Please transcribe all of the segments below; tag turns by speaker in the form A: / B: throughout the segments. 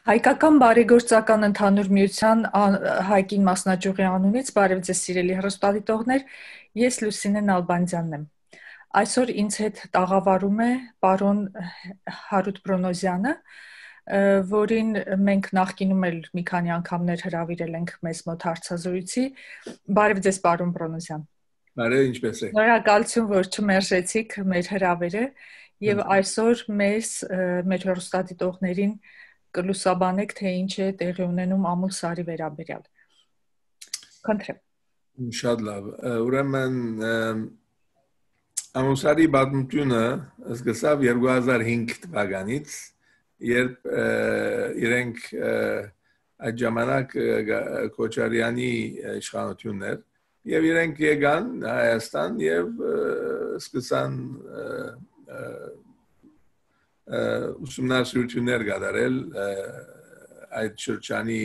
A: Հայկական բարեգործական ընդհանուր միության Հայկին մասնաճյուղի անունից բարև ձեզ սիրելի հեռուստադիտողներ, ես Լուսինե Նալբանդյանն եմ։ Այսօր ինձ հետ տաղավարում է պարոն Հարութ Բրոնոզյանը, որին մենք նախկինում էլ մի քանի անգամներ հրավիրել ենք մեզ մոտ հարցազրույցի։ Բարև ձեզ պարոն Բրոնոզյան։
B: Բարև, ինչպե՞ս եք։
A: Շնորհակալություն, որ չմերժեցիք մեր հրավերը եւ այսօր մեր հեռուստադիտողներին կլուսաբանեք, թե ինչ է տեղի ունենում Ամուլսարի վերաբերյալ։ Խնդրեմ։
B: Շատ լավ։ Ուրեմն Ամուլսարի պատմությունը սկսավ 2005 թվականից, երբ իրենք այդ ժամանակ Քոչարյանի իշխանությունն էր, եւ իրենք եկան Հայաստան եւ սկսան ուսումնասիրություններ կատարել այդ շրջանի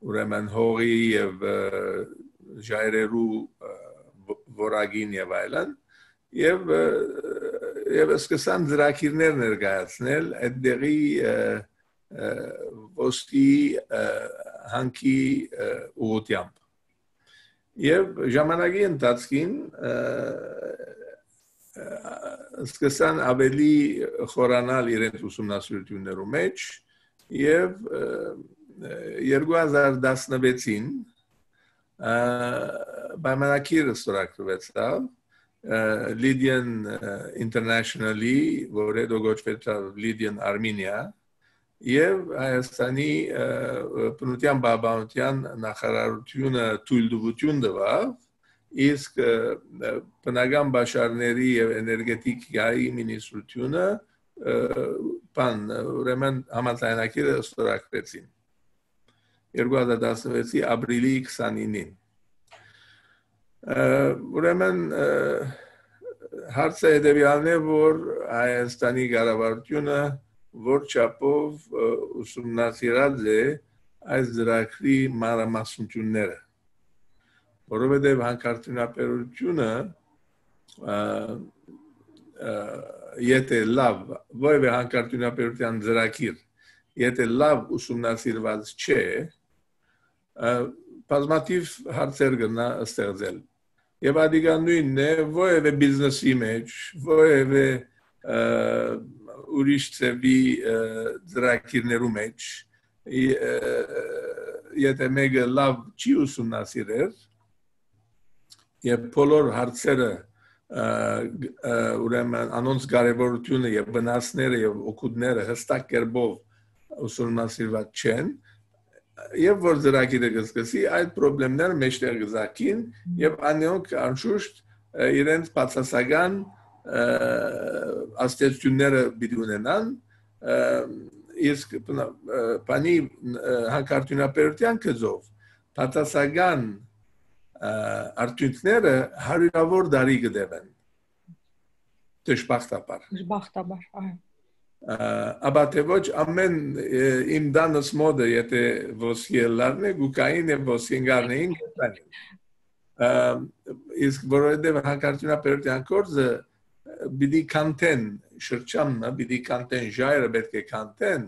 B: ուրեմն հողի եւ ժայռերու որակին եւ այլն եւ սկսան ծրագիրներ ներկայացնել այդտեղի ոսկի հանքի ուղղությամբ եւ ժամանակի ընթացքին սկսան ավելի խորանալ իրենց ուսումնասիրություններու մեջ եւ 2016-ին պայմանագիր ստորագրվեցավ Lydian International-ի, որը գոչվեցավ Lydian Armenia եւ Հայաստանի բնության պահպանության նախարարությունը թույլտվություն տվավ իսկ բնական բաշարների եւ էներգետիկայի մինիստրությունը ուրեմն համաձայնագիրը ստորագրեցին 2016-ի ապրիլի 29-ին ուրեմն հարցը հետեւյալն է որ Հայաստանի կառավարությունը որ չափով ուսումնասիրած է այս ծրագրի մանրամասնությունները որովհետև հանքարդյունաբերությունը եթե լավ որևէ հանքարդյունաբերության ծրագիր եթե լավ ուսումնասիրված չէ բազմաթիվ հարցեր կնա ստեղծել եւ ադիգա նույնն է որևէ բիզնեսի մեջ որևէ ուրիշ ծավի ծրագիրներու մեջ եթե մեկը լավ չի ուսումնասիրել եւ բոլոր հարցերը ուրեմն անոնց կարևորությունը եւ վնասները եւ օգուտները հստակ կերպով ուսումնասիրված չեն եւ որ ծրագիրը կսկսի այդ խնդիրները մեջտեղ կզակին եւ անոնք անշուշտ իրենց բացասական աստեցությունները պիտի ունենան իսկ բանի հանքարդյունաբերության գծով բացասական արդյունքները հարյուրավոր դարի կդևեն դժբախտաբար
A: այո
B: ապա թե ոչ ամեն իմ դանս մոդը եթե ոսկելարն է գուկային եւ ոսկենգարնեին իսկ որովհետեւ հանքարդյունաբերության գործը պիտի կանտեն շրջանը պիտի կանտեն ժայռը պետք է կանտեն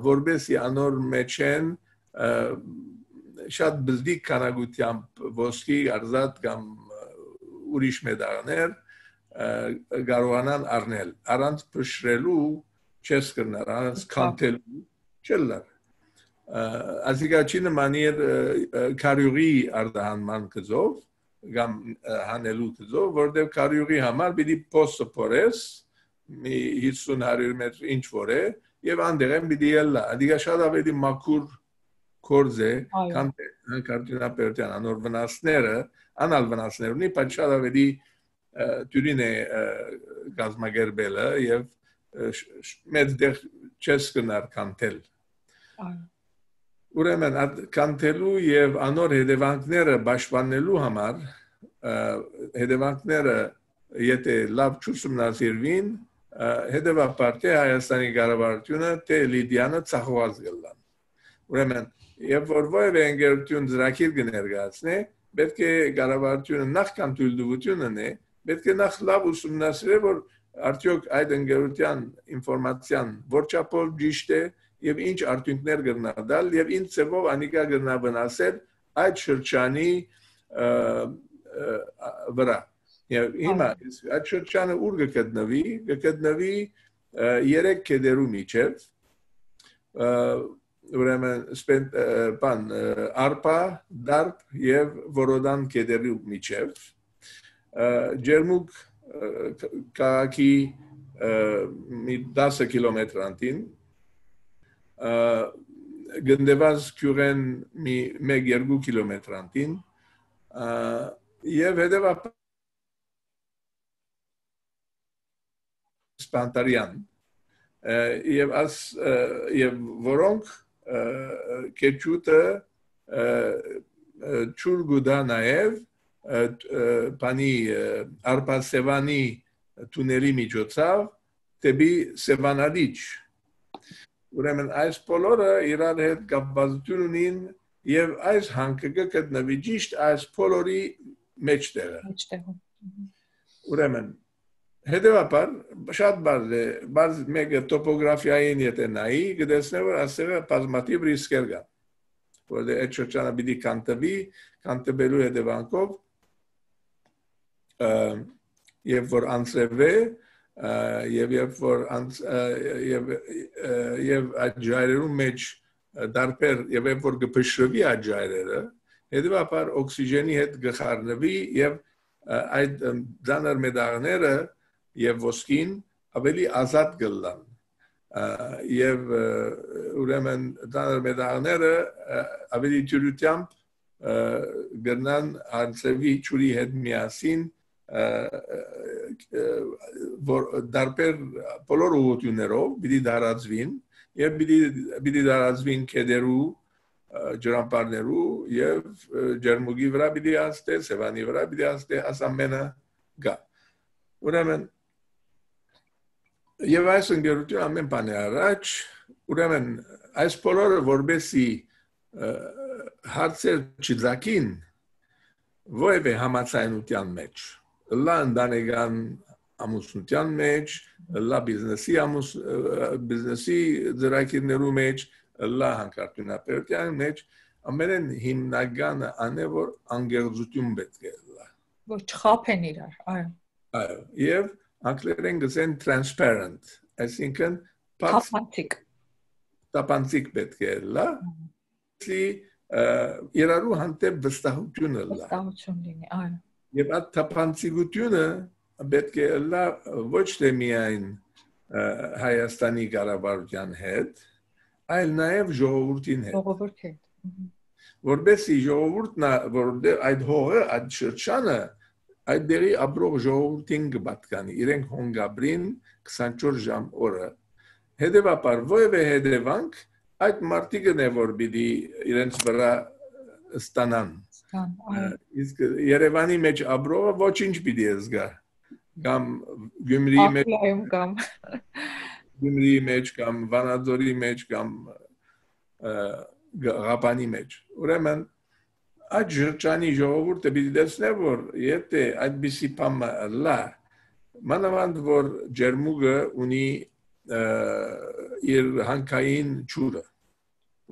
B: որբեսի անոր մեջ են շատ բզդիկ քանակությամբ ոսկի արզատ կամ ուրիշ մեդալներ կարողանան առնել առանց փշրելու չես կրնար առանց կանտելու չլար ասիկաչի նմանիր կարյուղի արտահանման գծով կամ հանելու գծով որտեղ կարյուղի համար պիտի փոստը փորես մի 50-100 մետր ինչ որ է եւ անդեղ են պիտի ելլա ադիգա շատ ավելի մաքուր կորձ է հանքարդյունաբերության անոր վնասները անալ վնասներ ունի բայց շատ ավելի դյուրին է գազմագերբելը եւ մեծ դեղ չես կնար կանտել ուրեմն կանտելու եւ անոր հետևանքները պաշտպանելու համար հետևանքները եթե լավ չուսումնասիրվին հետևաբար թե Հայաստանի կառավարությունը թե Լիդիանը ցախված գլան ուրեմն եւ որևէ ընկերություն ծրագիր կներկայացնի պետք է կառավարությունը նախքան թույլտվություն ունի պետք է նախ լավ ուսումնասիրել որ արդյոք այդ ընկերության ինֆորմացիան որ չափով ճիշտ է եւ ինչ արդյունքներ կգնա դալ եւ ինչ ծավով անիկա կգնա վնասել այդ շրջանի վրա եւ հիմա այդ շրջանը ուր կգտնվի 3 կեդերու միջև ուրեմն արպա դարպ եւ որոդան կեդերու միջև ջերմուկ քաղաքի մի 10 կիլոմետր անտին գնդեված քյուրեն մի 1-2 կիլոմետր անտին եւ հետեւաբար սպանտարյան եւ որոնք կեչուտը ճուր գուդա նաեւ բանի արպասևանի տուների միջոցով դեպի Սևանալիչ ուրեմն այս բոլորը իրար հետ կապվածություն ունին եւ այս հանքը կգտնվի ճիշտ այս բոլորի մեջտեղը ուրեմն հետեւաբար շատ բարձ մեկը տոպոգրաֆիային եթե նայի կտեսնի որ ասեղը բազմաթիվ ռիսկեր կան որտեղ այդ շրջանը պիտի կանտվելու հետևանքով եւ որ անցրևե եւ այդ ջայրերու մեջ դարբեր եւ որ կփշրվի այդ ջայրերը հետեւաբար օքսիգենի հետ գխառնվի եւ այդ դանար մեդաղները եւ ոսկին ավելի ազատ կլան եւ ուրեմն դանար մեդաղները ավելի ջրությամբ գնան անցրևի ճուրի հետ միասին որ դարբեր բոլոր ուղղություններով պիտի դարածվին եւ պիտի դարածվին կեդերու ջրամբարներու եւ ջերմուգի վրա պիտի անցնե Սևանի վրա պիտի անցնե ասամենը գա ուրեմն եւ այս ընկերությունը ամեն բանի առաջ ուրեմն այս բոլորը որբեսի հարցեր չձակին ովևէ համացայնության մեջ լա ընտանեկան ամուսնության մեջ լա բիզնեսի ծրագիրներու մեջ լա հանքարտունապետության մեջ ամենեն հիմնականը անե որ անգերձություն պետք է լա
A: որ չխափեն իրար այո
B: եւ անգլերեն գսեն transparent այսինքն տապանցիկ պետք է լա իրարու հանդեպ վստահությունը լա
A: լինի այո
B: եւ այդ տապանցիկությունը պետք է լա ոչ թե միայն Հայաստանի կառավարության հետ այլ նաեւ ժողովրդին հետ որբեսի ժողովուրդն այդ հողը այդ շրջանը այդ դերի ապրող ժողովրդին կպատկանի իրենք հոնգաբրին 24 ժամ օրը հետեւաբար ովևէ հետևանք այդ մարտիկն է որ պիտի իրենց վրա ստանան իսկ Երևանի մեջ ապրողը ոչինչ պիտի զգա կամ Գյումրիի մեջ կամ Վանաձորի մեջ կամ Ղապանի մեջ ուրեմն այդ շրջանի ժողովուրդը պիտի տեսնե որ եթե այդպիսի բան լա մանավանդ որ ջերմուգը ունի իր հանքային ջուրը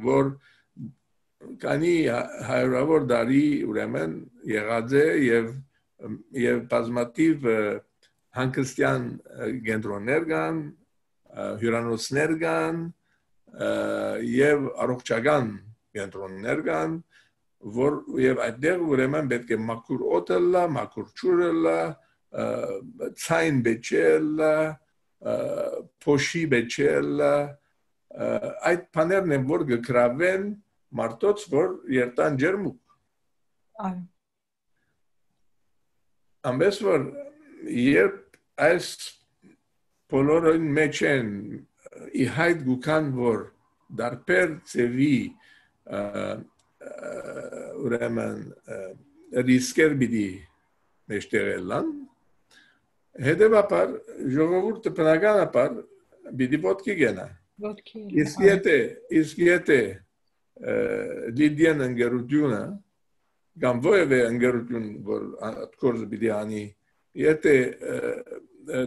B: որ կանի հարյուրավոր դարի ուրեմն եղած է եւ բազմաթիվ հանգստյան կենտրոններ կան հյուրանոցներ կան եւ առողջական կենտրոններ կան որ եւ այդտեղ ուրեմն պետք է մաքուր օդը լա մաքուր ջուրը լա ցայն բեչելա փոշի բեչելա այդ բաներն են որ գկրավեն մարդոց որ երտան ջերմուկ
A: այո
B: ամենս որ երբ այս բոլորին մեջ են իհայտ գուքան որ դարբեր ծևի ուրեմն ռիսկեր պիտի մեջտեղելան հետևաբար ժողովուրդը բնականաբար պիտի ոտքի գնա իսկ եթե լիդիան ընկերությունը կամ ովևէ ընկերություն որ գործը պիտի անի եթե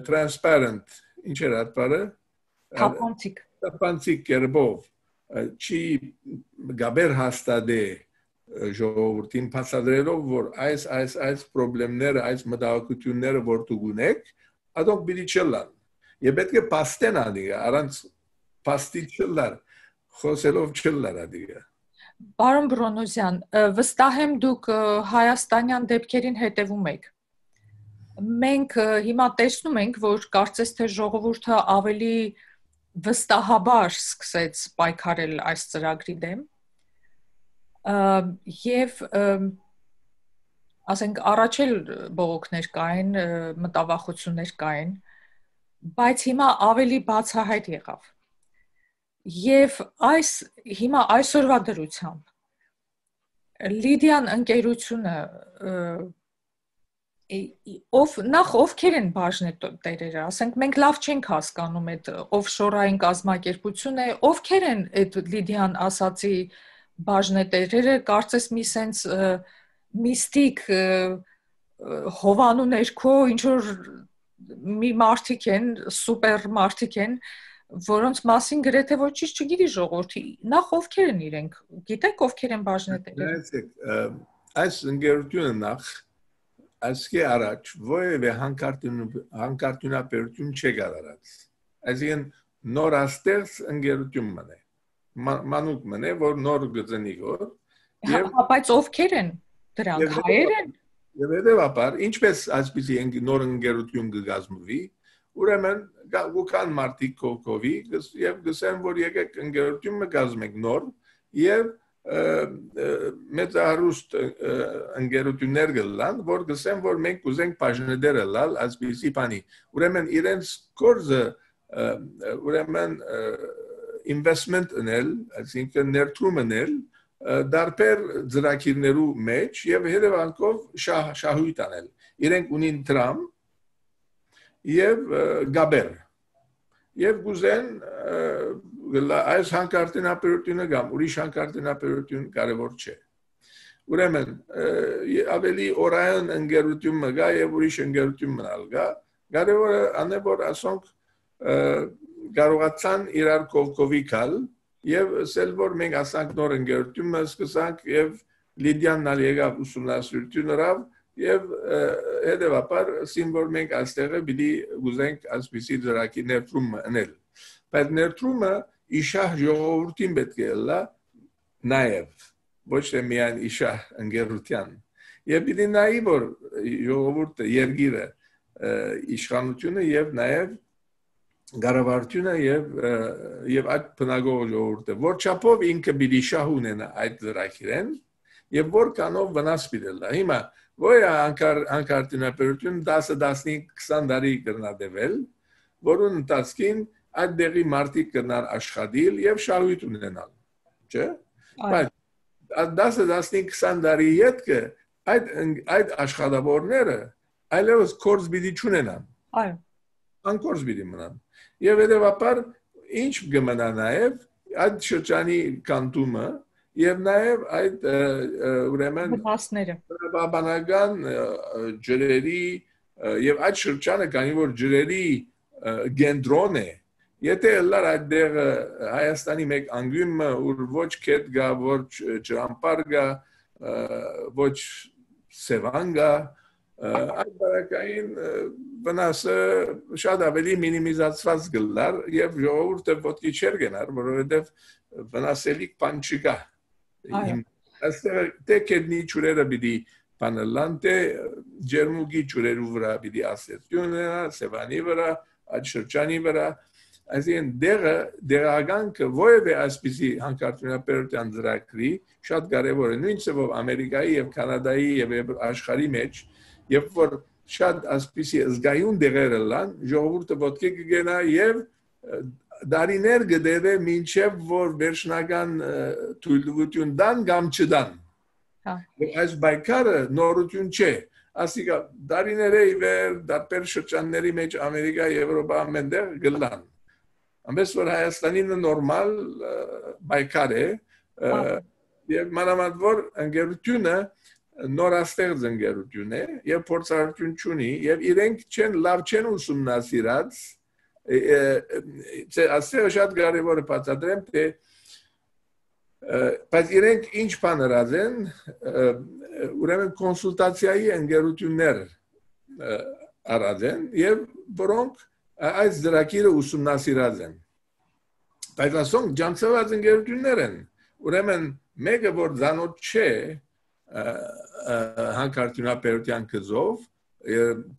B: transparent ինչ էր այդ բառը տապանցիկ կերպով չի գաբեր հաստատե ժողովրդին փաստադրելով որ այս խնդիրները, այս մտահոգությունները որ դուք ունեք, ադոնք պիտի չլան։ Եվ պետք է փաստեն ադիգա, առանց փաստի չլար, խոսելով չլար ադիգա։
A: Պարոն Բրոնոզյան, վստահ եմ դուք հայաստանյան դեպքերին հետևում եք։ Մենք հիմա տեսնում ենք, որ կարծես թե ժողովուրդը ավելի վստահաբար սկսեց պայքարել այս ծրագրի դեմ։ Եվ ասենք առաջ էլ բողոքներ կային, մտավախություններ կային, բայց հիմա ավելի բացահայտ եղավ։ Եվ հիմա այսօրվա դրությամբ Լիդիան ընկերությունը ովքեր են բաժնետերերը, ասենք մենք լավ չենք հասկանում այդ օֆշորային կազմակերպություն է, ովքեր են այդ Լիդիան ասացի բաժնետերերը, կարծես մի սենց միստիկ հովանու ներքո ինչ որ մի մարդիկ են, սուպեր մարդիկ են, որոնց մասին գրեթե ոչինչ չգիտի ժողովուրդը։ Նախ ովքեր են իրենք, գիտեք ովքեր են բաժնետերերը։
B: Այս ընկերությունը նախ այսքի առաջ որևէ հանկարծությունաբերություն չեկար արած։ Այսինքն նորաստեղծ ընկերություն մնե։ Մանուկ մնե, որ նոր գծնի որ։
A: Բայց ովքեր են դրանք, հայեր են։
B: Եվ հետևաբար, ինչպես այսպիսի նոր ընկերություն կգազմվի, ուրեմն գուքան մարդիկ կողքովի եւ գսեն որ եկեք ընկերություն կգազմենք նոր եւ մեծահարուստ ընկերություններ գլան որ գսեն որ մենք կուզենք բաժնետեր լալ այսպիսի բանի ուրեմն իրենց կորզը ուրեմն investment անել այսինքն ներդրում անել դարբեր ծրագիրներու մեջ եւ հետևանքով շահույթ անել իրենք ունին տրամ եւ գաբեր եւ գուզեն այս հանկարծությունաբերությունը կամ ուրիշ հանկարծությունաբերություն կարևոր չէ ուրեմն ավելի օրային ընկերություն մգա եւ ուրիշ ընկերություն մնալ գա կարևորը անե որ ասոնք կարողացան իրար կողքովի գալ եւ ասել որ մենք ասանք նոր ընկերություն սկսանք եւ Լիդիան նալ եկավ ուսումնասիրություններով եւ հետեւաբար սիմվոր մենք այստեղը պիտի ուզենք այսպիսի ծրագիր ներդրում անել բայց ներդրումը իշահ ժողովրդին պետք է լա նաեւ ոչ թե միայն իշահ ընկերության եւ պիտի նայի որ ժողովուրդը երգիրը իշխանությունը եւ նաեւ գարավարտությունը եւ այդ բնագող ժողովուրդը որ չափով ինքը պիտի շահ ունենա այդ ծրագիրեն եւ որ կանով վնաս պիտի լա հիմա Ոյ հանկարծությունաբերություն 10-15-20 տարի կրնադեվել, որուն ընթացքին այդ դեղի մարդիկ կրնան աշխատիլ եւ շահույթ ունենալ, չէ՞։ Բայց 10-15-20 տարի յետքը այդ աշխատավորները այլևս կորձ պիտի չունենան։
A: Այո։
B: Անկորձ պիտի մնան։ Եվ հետեւաբար ինչ կմնա նաեւ այդ շրջանի կանտումը Եվ նաև այդ ուրեմն բանական ջրերի եւ այդ շրջանը կանի որ ջրերի գենտրոն է եթե լար այդտեղ Հայաստանի մեկ անգյումը ուր ոչ քետ գա ոչ ջրամբար գա ոչ սևան գա այդ բարակային վնասը շատ ավելի մինիմիզացված գլար եւ ժողովուրդը ոտքի չեր գնար որովհետեւ վնասելիք բան չկա Այստեղ թե կետնի ճուրերը պիտի պանելան, թե ջերմուգի ճուրերու վրա պիտի ասեցյունը, սևանի վրա, այդ շրջանի վրա, այսին դեղագանքը ոյև է ասպիսի հանկարծությունաբերության ծրագրի շատ կարևոր է, նույն ծավով Ամերիկայի և Կանադայի և աշխարհի մեջ, երբ որ շատ ասպիսի զգայուն դեղերը լան, ժողովուրդը ոտքի կգենա և դարիներ գդեվե մինչև որ վերջնական թույլտվություն դան կամ չդան այս բայկարը նորություն չէ ասիկա դարիներ է իվեր դարբեր շրջանների մեջ Ամերիկա Եվրոպա ամենտեղ գլան ամենս որ Հայաստանին նորմալ բայկար է եւ մանավանդ որ ընկերությունը նորաստեղծ ընկերություն է եւ փորձառություն ունի եւ իրենք չեն լավ չեն ուսումնասիրած Ասեղը շատ կարևոր է բացատրեմ, թե բայց իրենք ինչ բան հրազեն, ուրեմն կոնսուլտացիայի ընկերություններ արածեն եւ որոնք այս դրակիրը ուսումնասիրած են։ Բայց ասոնք ջանցված ընկերություններ են։ Ուրեմն մեկը որ ցանոթ չէ հանքարդյունաբերության գծով,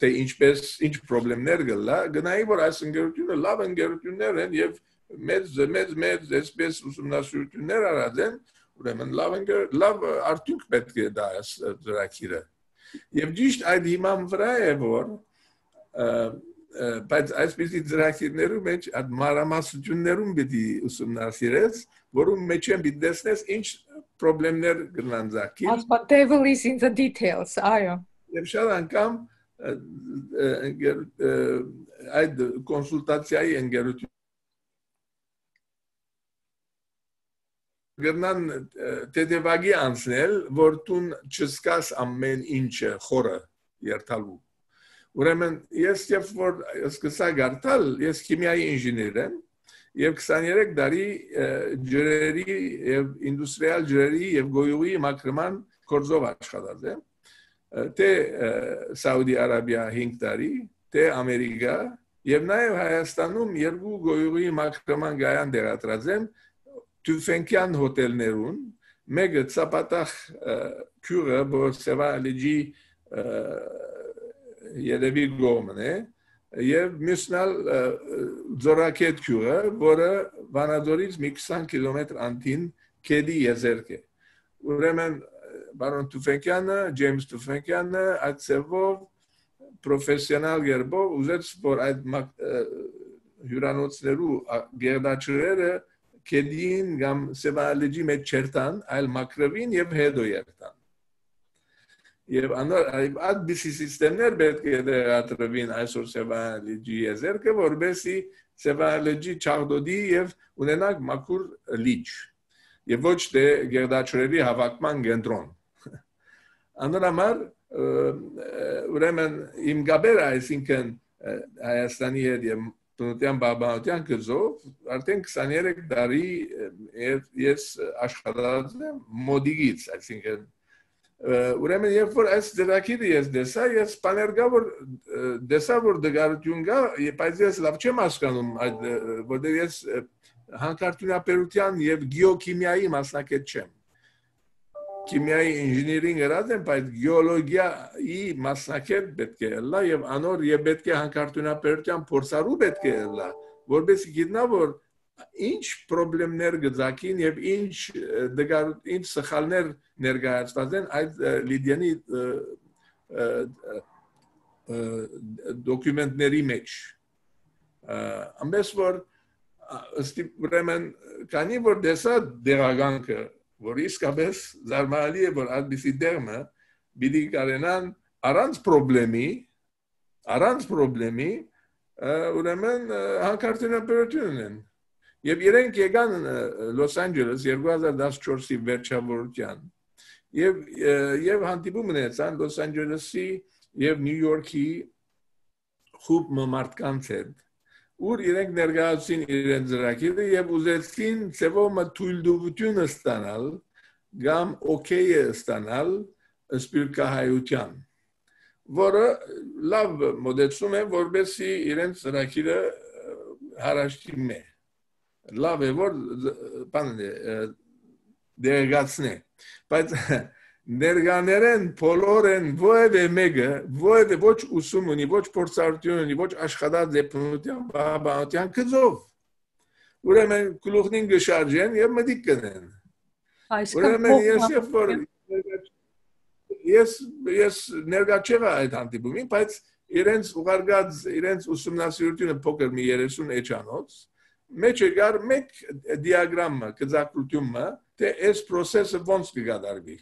B: թե ինչ խնդիրներ կլա, գնայի որ այս ընկերությունը լավ ընկերություններ են եւ մեծ այսպես ուսումնասիրություններ արած են, ուրեմն լավ արդյունք պետք է դա դրակիրը։ Եվ ճիշտ այդ հիման վրա է որ բայց այսպիսի դրակիրներում մեջ այդ մանրամասնություններում պիտի ուսումնասիրես, որում մեջ են պիտի տեսնես ինչ խնդիրներ կլան ձակի։
A: Ասpa devil is in the details, այո։
B: Եվ շատ անգամ այդ կոնսուլտացիայի ընկերություն գնան տեդևագի անցնել, որ տուն չսկաս ամեն ինչը խորը երթալու։ Ուրեմն ես երբ որ սկսա գարտալ, ես քիմիայի ինժեներ եմ եւ 23 տարի ջրերի եւ ինդուստրիալ ջրերի եւ գոյուղի մաքրման գործով աշխատած եմ։ Թե Սաուդի Արաբիա 5 տարի, թե Ամերիկա եւ նաեւ Հայաստանում երկու գոյուղի մաքրման գայան դերատրած եմ Tüfenkian հոթելներուն, մեկը ծապատախ քյուրը, որ Սևալիջի երևի գոմն է, եւ մյուսնալ ձորակետ քյուրը, որը Վանաձորից մի 20 կիլոմետր անտին Քեդի եզերք է։ Ուրեմն բարոն Tüfenkian-ը, Ջեյմս Tüfenkian-ը այդ ծևով պրոֆեսիոնալ երբով ուզեց, որ այդ հյուրանոցներու գերդաչրերը Քեդին կամ Սևալիջի մեջ չերտան, այլ մակրվին եւ հետո երտան։ Եվ այդ բիսի սիստեմներ պետք է դերատրվին այսօր Սևալիջի եզերքը, որբեսի Սևալիջի չաղդոդի եւ ունենակ մաքուր լիճ։ Եվ ոչ թե գերդաչրերի հավաքման կենտրոն։ Անորամար ուրեմն իմ գաբերը այսինքն Հայաստանի հետ եւ Տնտեսական բաբանության գծով արդեն 23 տարի ես աշխատած եմ մոդիգից, այսինքն ուրեմն երբ որ այս դրակիրը ես դեսա, ես բաներգա որ դեսա որ դգարություն կա, բայց ես լավ չեմ հասկանում այդ որտեղ ես հանքարդյունաբերության եւ գեոքիմիայի մասնակից չեմ։ Քիմիայի ինժեներինգ գրած եմ, բայց գեոլոգիայի մասնակից պետք է լա եւ անոր եւ պետք է հանքարդյունաբերության փորձարու պետք է լա, որովհետեւ գիտնա որ ինչ խնդիրներ գծակին եւ ինչ սխալներ ներկայացված են այդ լիդյանի դոկումենտների մեջ։ Ամենից որ ուրեմն քանի որ դեսա դերագանքը որ իսկապես զարմանալի է որ այդպիսի դերմը պիտի կարենան առանց խնդրեմի ուրեմն հանքարդյունաբերություն են եւ իրենք եկան Լոս Անջելես 2014-ի վերջավորության եւ հանդիպում ունեցան Լոս Անջելեսի եւ Նյու Յորքի խումբ մարդկանց հետ ուր իրենք ներկայացին իրենց ծրագիրը եւ ուզեցին ծևոմը թույլտվությունը ստանալ կամ օքեյը ստանալ սպիրկահայության որը լավ մոդեցում է որբեսի իրենց ծրագիրը հարաշտի լավ է որ բանը դերգացնե բայց ներգաներեն բոլորեն որևէ ոչ ուսում ունի, ոչ փորձառություն ունի, ոչ աշխատած դեպնության բաբանության գծով։ Ուրեմն գլուխնին գշարժեն եւ մտիկ կնեն։ Ուրեմն ես ներգա չեղա այդ հանդիպումին, բայց իրենց ուղարկած իրենց ուսումնասիրությունը փոքր մի 30 էջանոց մեջ եկար մեկ դիագրամը, գծակրությունը, թե այս process-ը ոնց կգադարվի։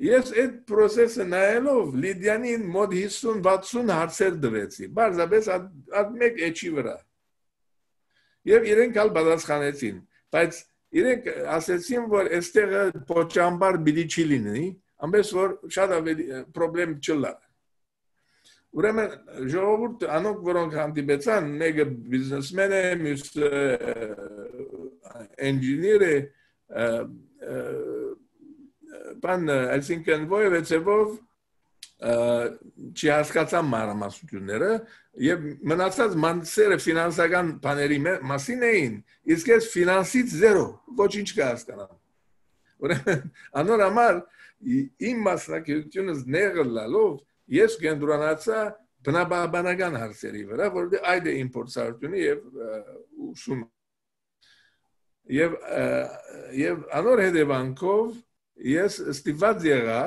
B: Ես այդ process-ը նայելով Լիդյանին մոտ 50-60 հարցեր տվեցի, բարձրապես այդ մեկ էջի վրա։ Եվ իրենք ալ պատասխանեցին, բայց իրենք ասեցին, որ այստեղը փոճամբար պիտի չի լինի, ամենից որ շատ ավելի խնդրեմ չլա։ Ուրեմն ժողովուրդ անոնք որոնք հանդիպեցան, մեկը բիզնեսմեն է, մյուսը ինժեներ է, բան այսինքն որևէ ձևով չի հասկացան մանրամասնությունները եւ մնացած մանսերը ֆինանսական բաների մասին էին իսկ ես ֆինանսից զերո ոչինչ կհասկանամ ուրեմն անոր համար իմ մասնակցությունը ներգլալով ես կենտրոնացա բնաբանական հարցերի վրա որովհետեւ այդ է իմ փորձառությունը եւ ուսումը եւ անոր հետևանքով ես ստիպված եղա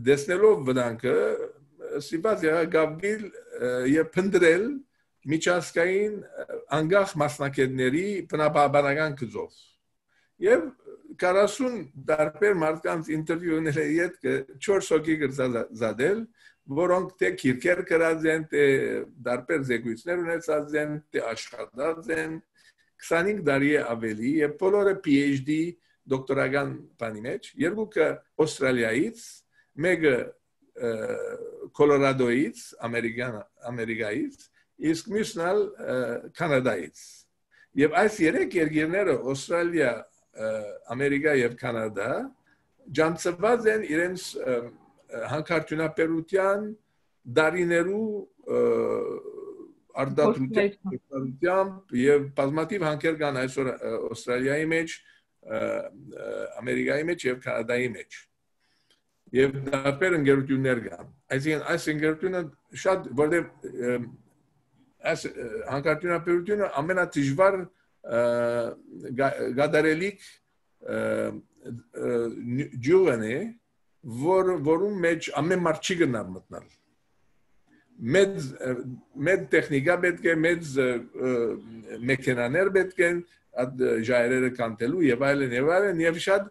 B: դեսնելով վտանգը ստիպված եղա գաբիլ եւ փնտրել միջազգային անկախ մասնակիցների բնաբանական գծով եւ 40 տարբեր մարդկանց ինտերվյուներ հետ 4 հոգի գրծածադել որոնք թե քիրքեր գրած են թե տարբեր զեկույցներ ունեցած են թե աշխատած են 25 տարի ավելի եւ բոլորը PhD դոկտորական բանի մեջ երկուքը Ավստրալիայից մեկը Կոլորադոից ամերիկայից իսկ մյուսն կանադայից եւ այս երեք երկրները Ավստրալիա ամերիկա եւ կանադա ջանցված են իրենց հանքարդյունաբերության դարիներու արդյունքությամբ եւ բազմաթիվ հանքեր կան այսօր Ավստրալիայի մեջ ամերիկայի մեջ եւ կանադայի մեջ եւ դարբեր ընկերություններ կան այսինքն այս ընկերությունը շատ որտեղ այս հանքարդյունաբերությունը ամենադժվար գադարելիք ջուղն է որում մեջ ամեն մարդ չի գնա մտնել մեծ տեխնիկա պետք է մեծ մեքենաներ պետք են այդ ժայռերը կանտելու եւ այլն եւ շատ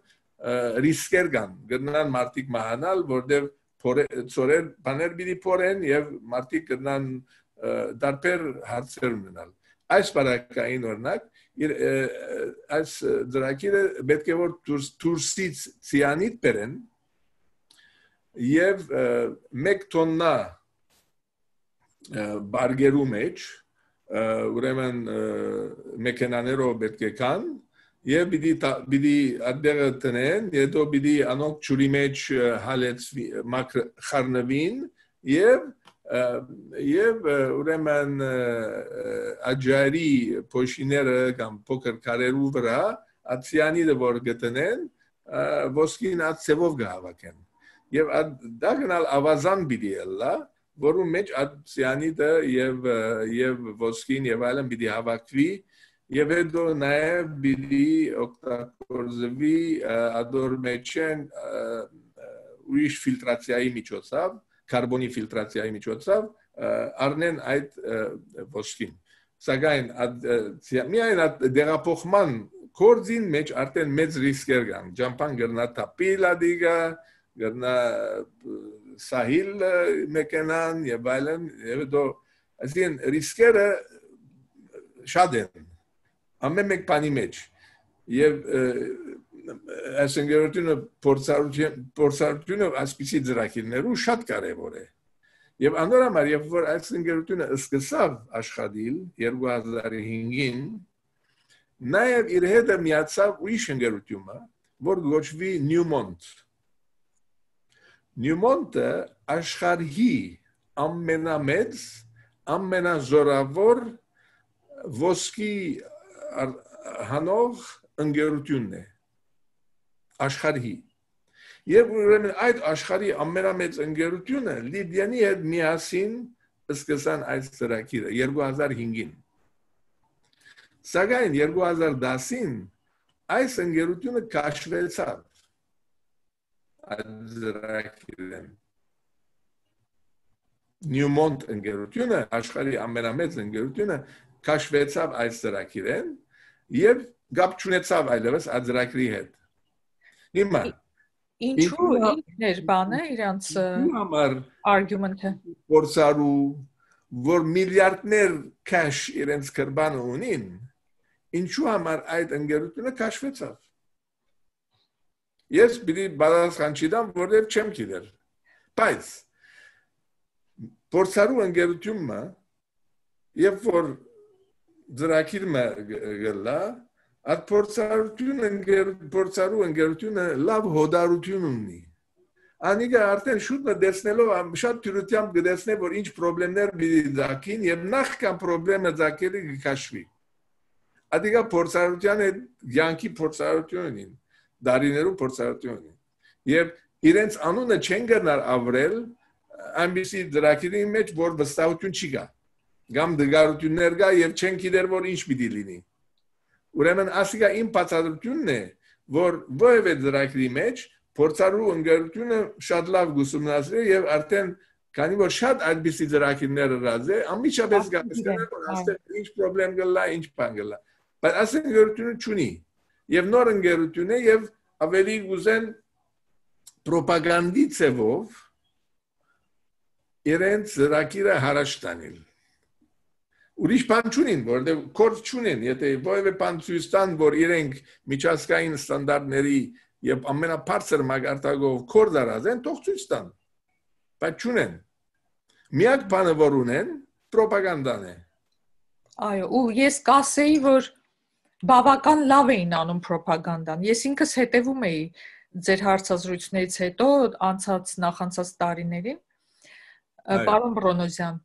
B: ռիսկեր կան գտնան մարդիկ մահանալ որտեղ ծորեր բաներ պիտի փորեն եւ մարդիկ գտնան դարբեր հարցեր ունենալ այս բարակային օրինակ այս ծրագիրը պետք է որ դուրսից ցիանիդ բերեն եւ 1 տոննա բարգերու մեջ ուրեմն մեքենաներով պետք է կան եւ պիտի այդտեղը տնեն հետո պիտի անոնք ջուրի մեջ հալեցվի խառնվին եւ ուրեմն աջարի փոշիները կամ փոքր կարերու վրա ացիանիդը որ գտնեն ոսկին ացևով գահավաքեն եւ դա գնալ ավազան պիտի ելա որում մեջ ացիանիդը եւ ոսկին եւ այլն պիտի հավաքվի եւ հետո նաեւ պիտի օգտագործվի ադոր մեջեն ուրիշ ֆիլտրացիայի միջոցով կարբոնի ֆիլտրացիայի միջոցով առնեն այդ ոսկին սակայն միայն դեղափոխման կորձին մեջ արդեն մեծ ռիսկեր կան ջամփան գրնա տապիլա դիգա գրնա սահիլ մեքենան եւ այլն եւ դո այսին ռիսկերը շատ են ամեն մեկ բանի մեջ եւ այս ընկերությունը փորձառությունը ասպիսի ծրագիրներու շատ կարեւոր է եւ անոր համար երբ որ այս ընկերությունը սկսավ աշխատել 2005-ին նաեւ իր հետ միացավ ուրիշ ընկերությունը որ գոչվի Newmont-ը աշխարհի ամենամեծ ամենազորավոր ոսկի հանող ընկերությունն է աշխարհի եւ ուրեմն այդ աշխարհի ամենամեծ ընկերությունը Լիդիանի հետ միասին սկսան այս ծրագիրը 2005-ին սակայն 2010-ին այս ընկերությունը քաշվեցավ այդ ծրագիրը Newmont ընկերությունը աշխարհի ամենամեծ ընկերությունը քաշվեցավ այս ծրագիրեն եւ գապ չունեցավ այլևս այդ ծրագրի հետ հիմա
A: ինչու ինքներ բանը իրանց argument-ը
B: փորձարու որ միլիարդներ cash իրենց կրբանը ունին ինչու համար այդ ընկերությունը քաշվեցավ ես պիտի բարձրան չիդամ որտեղ չեմ գիտեր բայց փորձարու ընկերությունը երբ որ ծրագիրը գլա Այդ փորձարու ընկերությունը լավ հոդարություն ունի։ Անիկը արդեն շուտ մտածելով շատ թյուրությամբ գտեսնե որ ինչ խնդիրներ պիտի ձակին եւ նախքան խնդիրը ձակելը կքաշվի։ Ադիգա փորձարության հետ յանքի փորձարությունին, դարիներու փորձարությունին։ Եվ իրենց անունը չեն գնար ավրել այնպիսի դրակերի մեջ որ վստահություն չի գա։ Գամ դգարություններ կա եւ չեն գիտեր որ ինչ պիտի լինի։ Ուրեմն ասիկա իմ բացատրությունն է որ ովևէ դրակերի մեջ փորձարու ընկերությունը շատ լավ գուսումնասիրել եւ արդեն քանի որ շատ այդպիսի դրակիրներ ըրած է ամիջապես գտեսնել որ աստեղ ինչ խնդրեմ գլա ինչ բան գլա բայց ասեն ընկերությունը չունի եւ նոր ընկերություն է եւ ավելի գուզեն պրոպագանդի ծևով իրենց դրակիրը հարաշ տանել ուրիշ բան չունին որտեղ կորձ չունեն եթե ովևէ բան ցույց տան որ իրենք միջազգային ստանդարտների եւ ամենաբարձր մագարտակով կորձ արածեն թող ցույց տան բայց չունեն միակ բանը որ ունեն պրոպագանդան է
A: այո ու ես կասեի որ բավական լավ էին անում պրոպագանդան ես ինքս հետևում էի ձեր հարցազրույցներից հետո նախանցած տարիներին պարոն Բրոնոզյան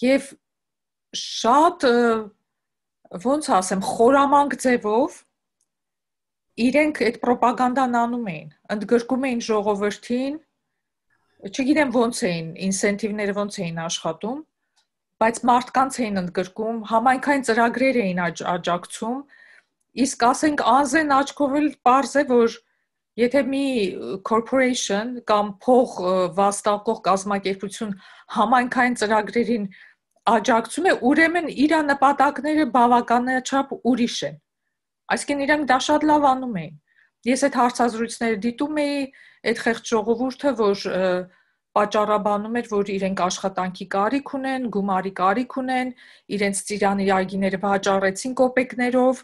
A: եւ շատ ոնց ասեմ խորամանկ ձևով իրենք այդ պրոպագանդան անում էին ընդգրկում էին ժողովրդին չգիտեմ ոնց էին ինսենտիվները ոնց էին աշխատում բայց մարդկանց էին ընդգրկում համայնքային ծրագրեր էին աջակցում իսկ ասենք անզեն աչքով էլ պարզ է որ եթե մի corporation կամ փող վաստակող կազմակերպություն համայնքային ծրագրերին աջակցում է ուրեմն իր նպատակները բավականաչափ ուրիշ են այսինքն իրենք դա շատ լավ անում էին ես այդ հարցազրույցները դիտում էի այդ խեղճ ժողովուրդը որ պատճառաբանում էր որ իրենք աշխատանքի կարիք ունեն գումարի կարիք ունեն իրենց ծիրանի այգիները վաճառեցին կոպեկներով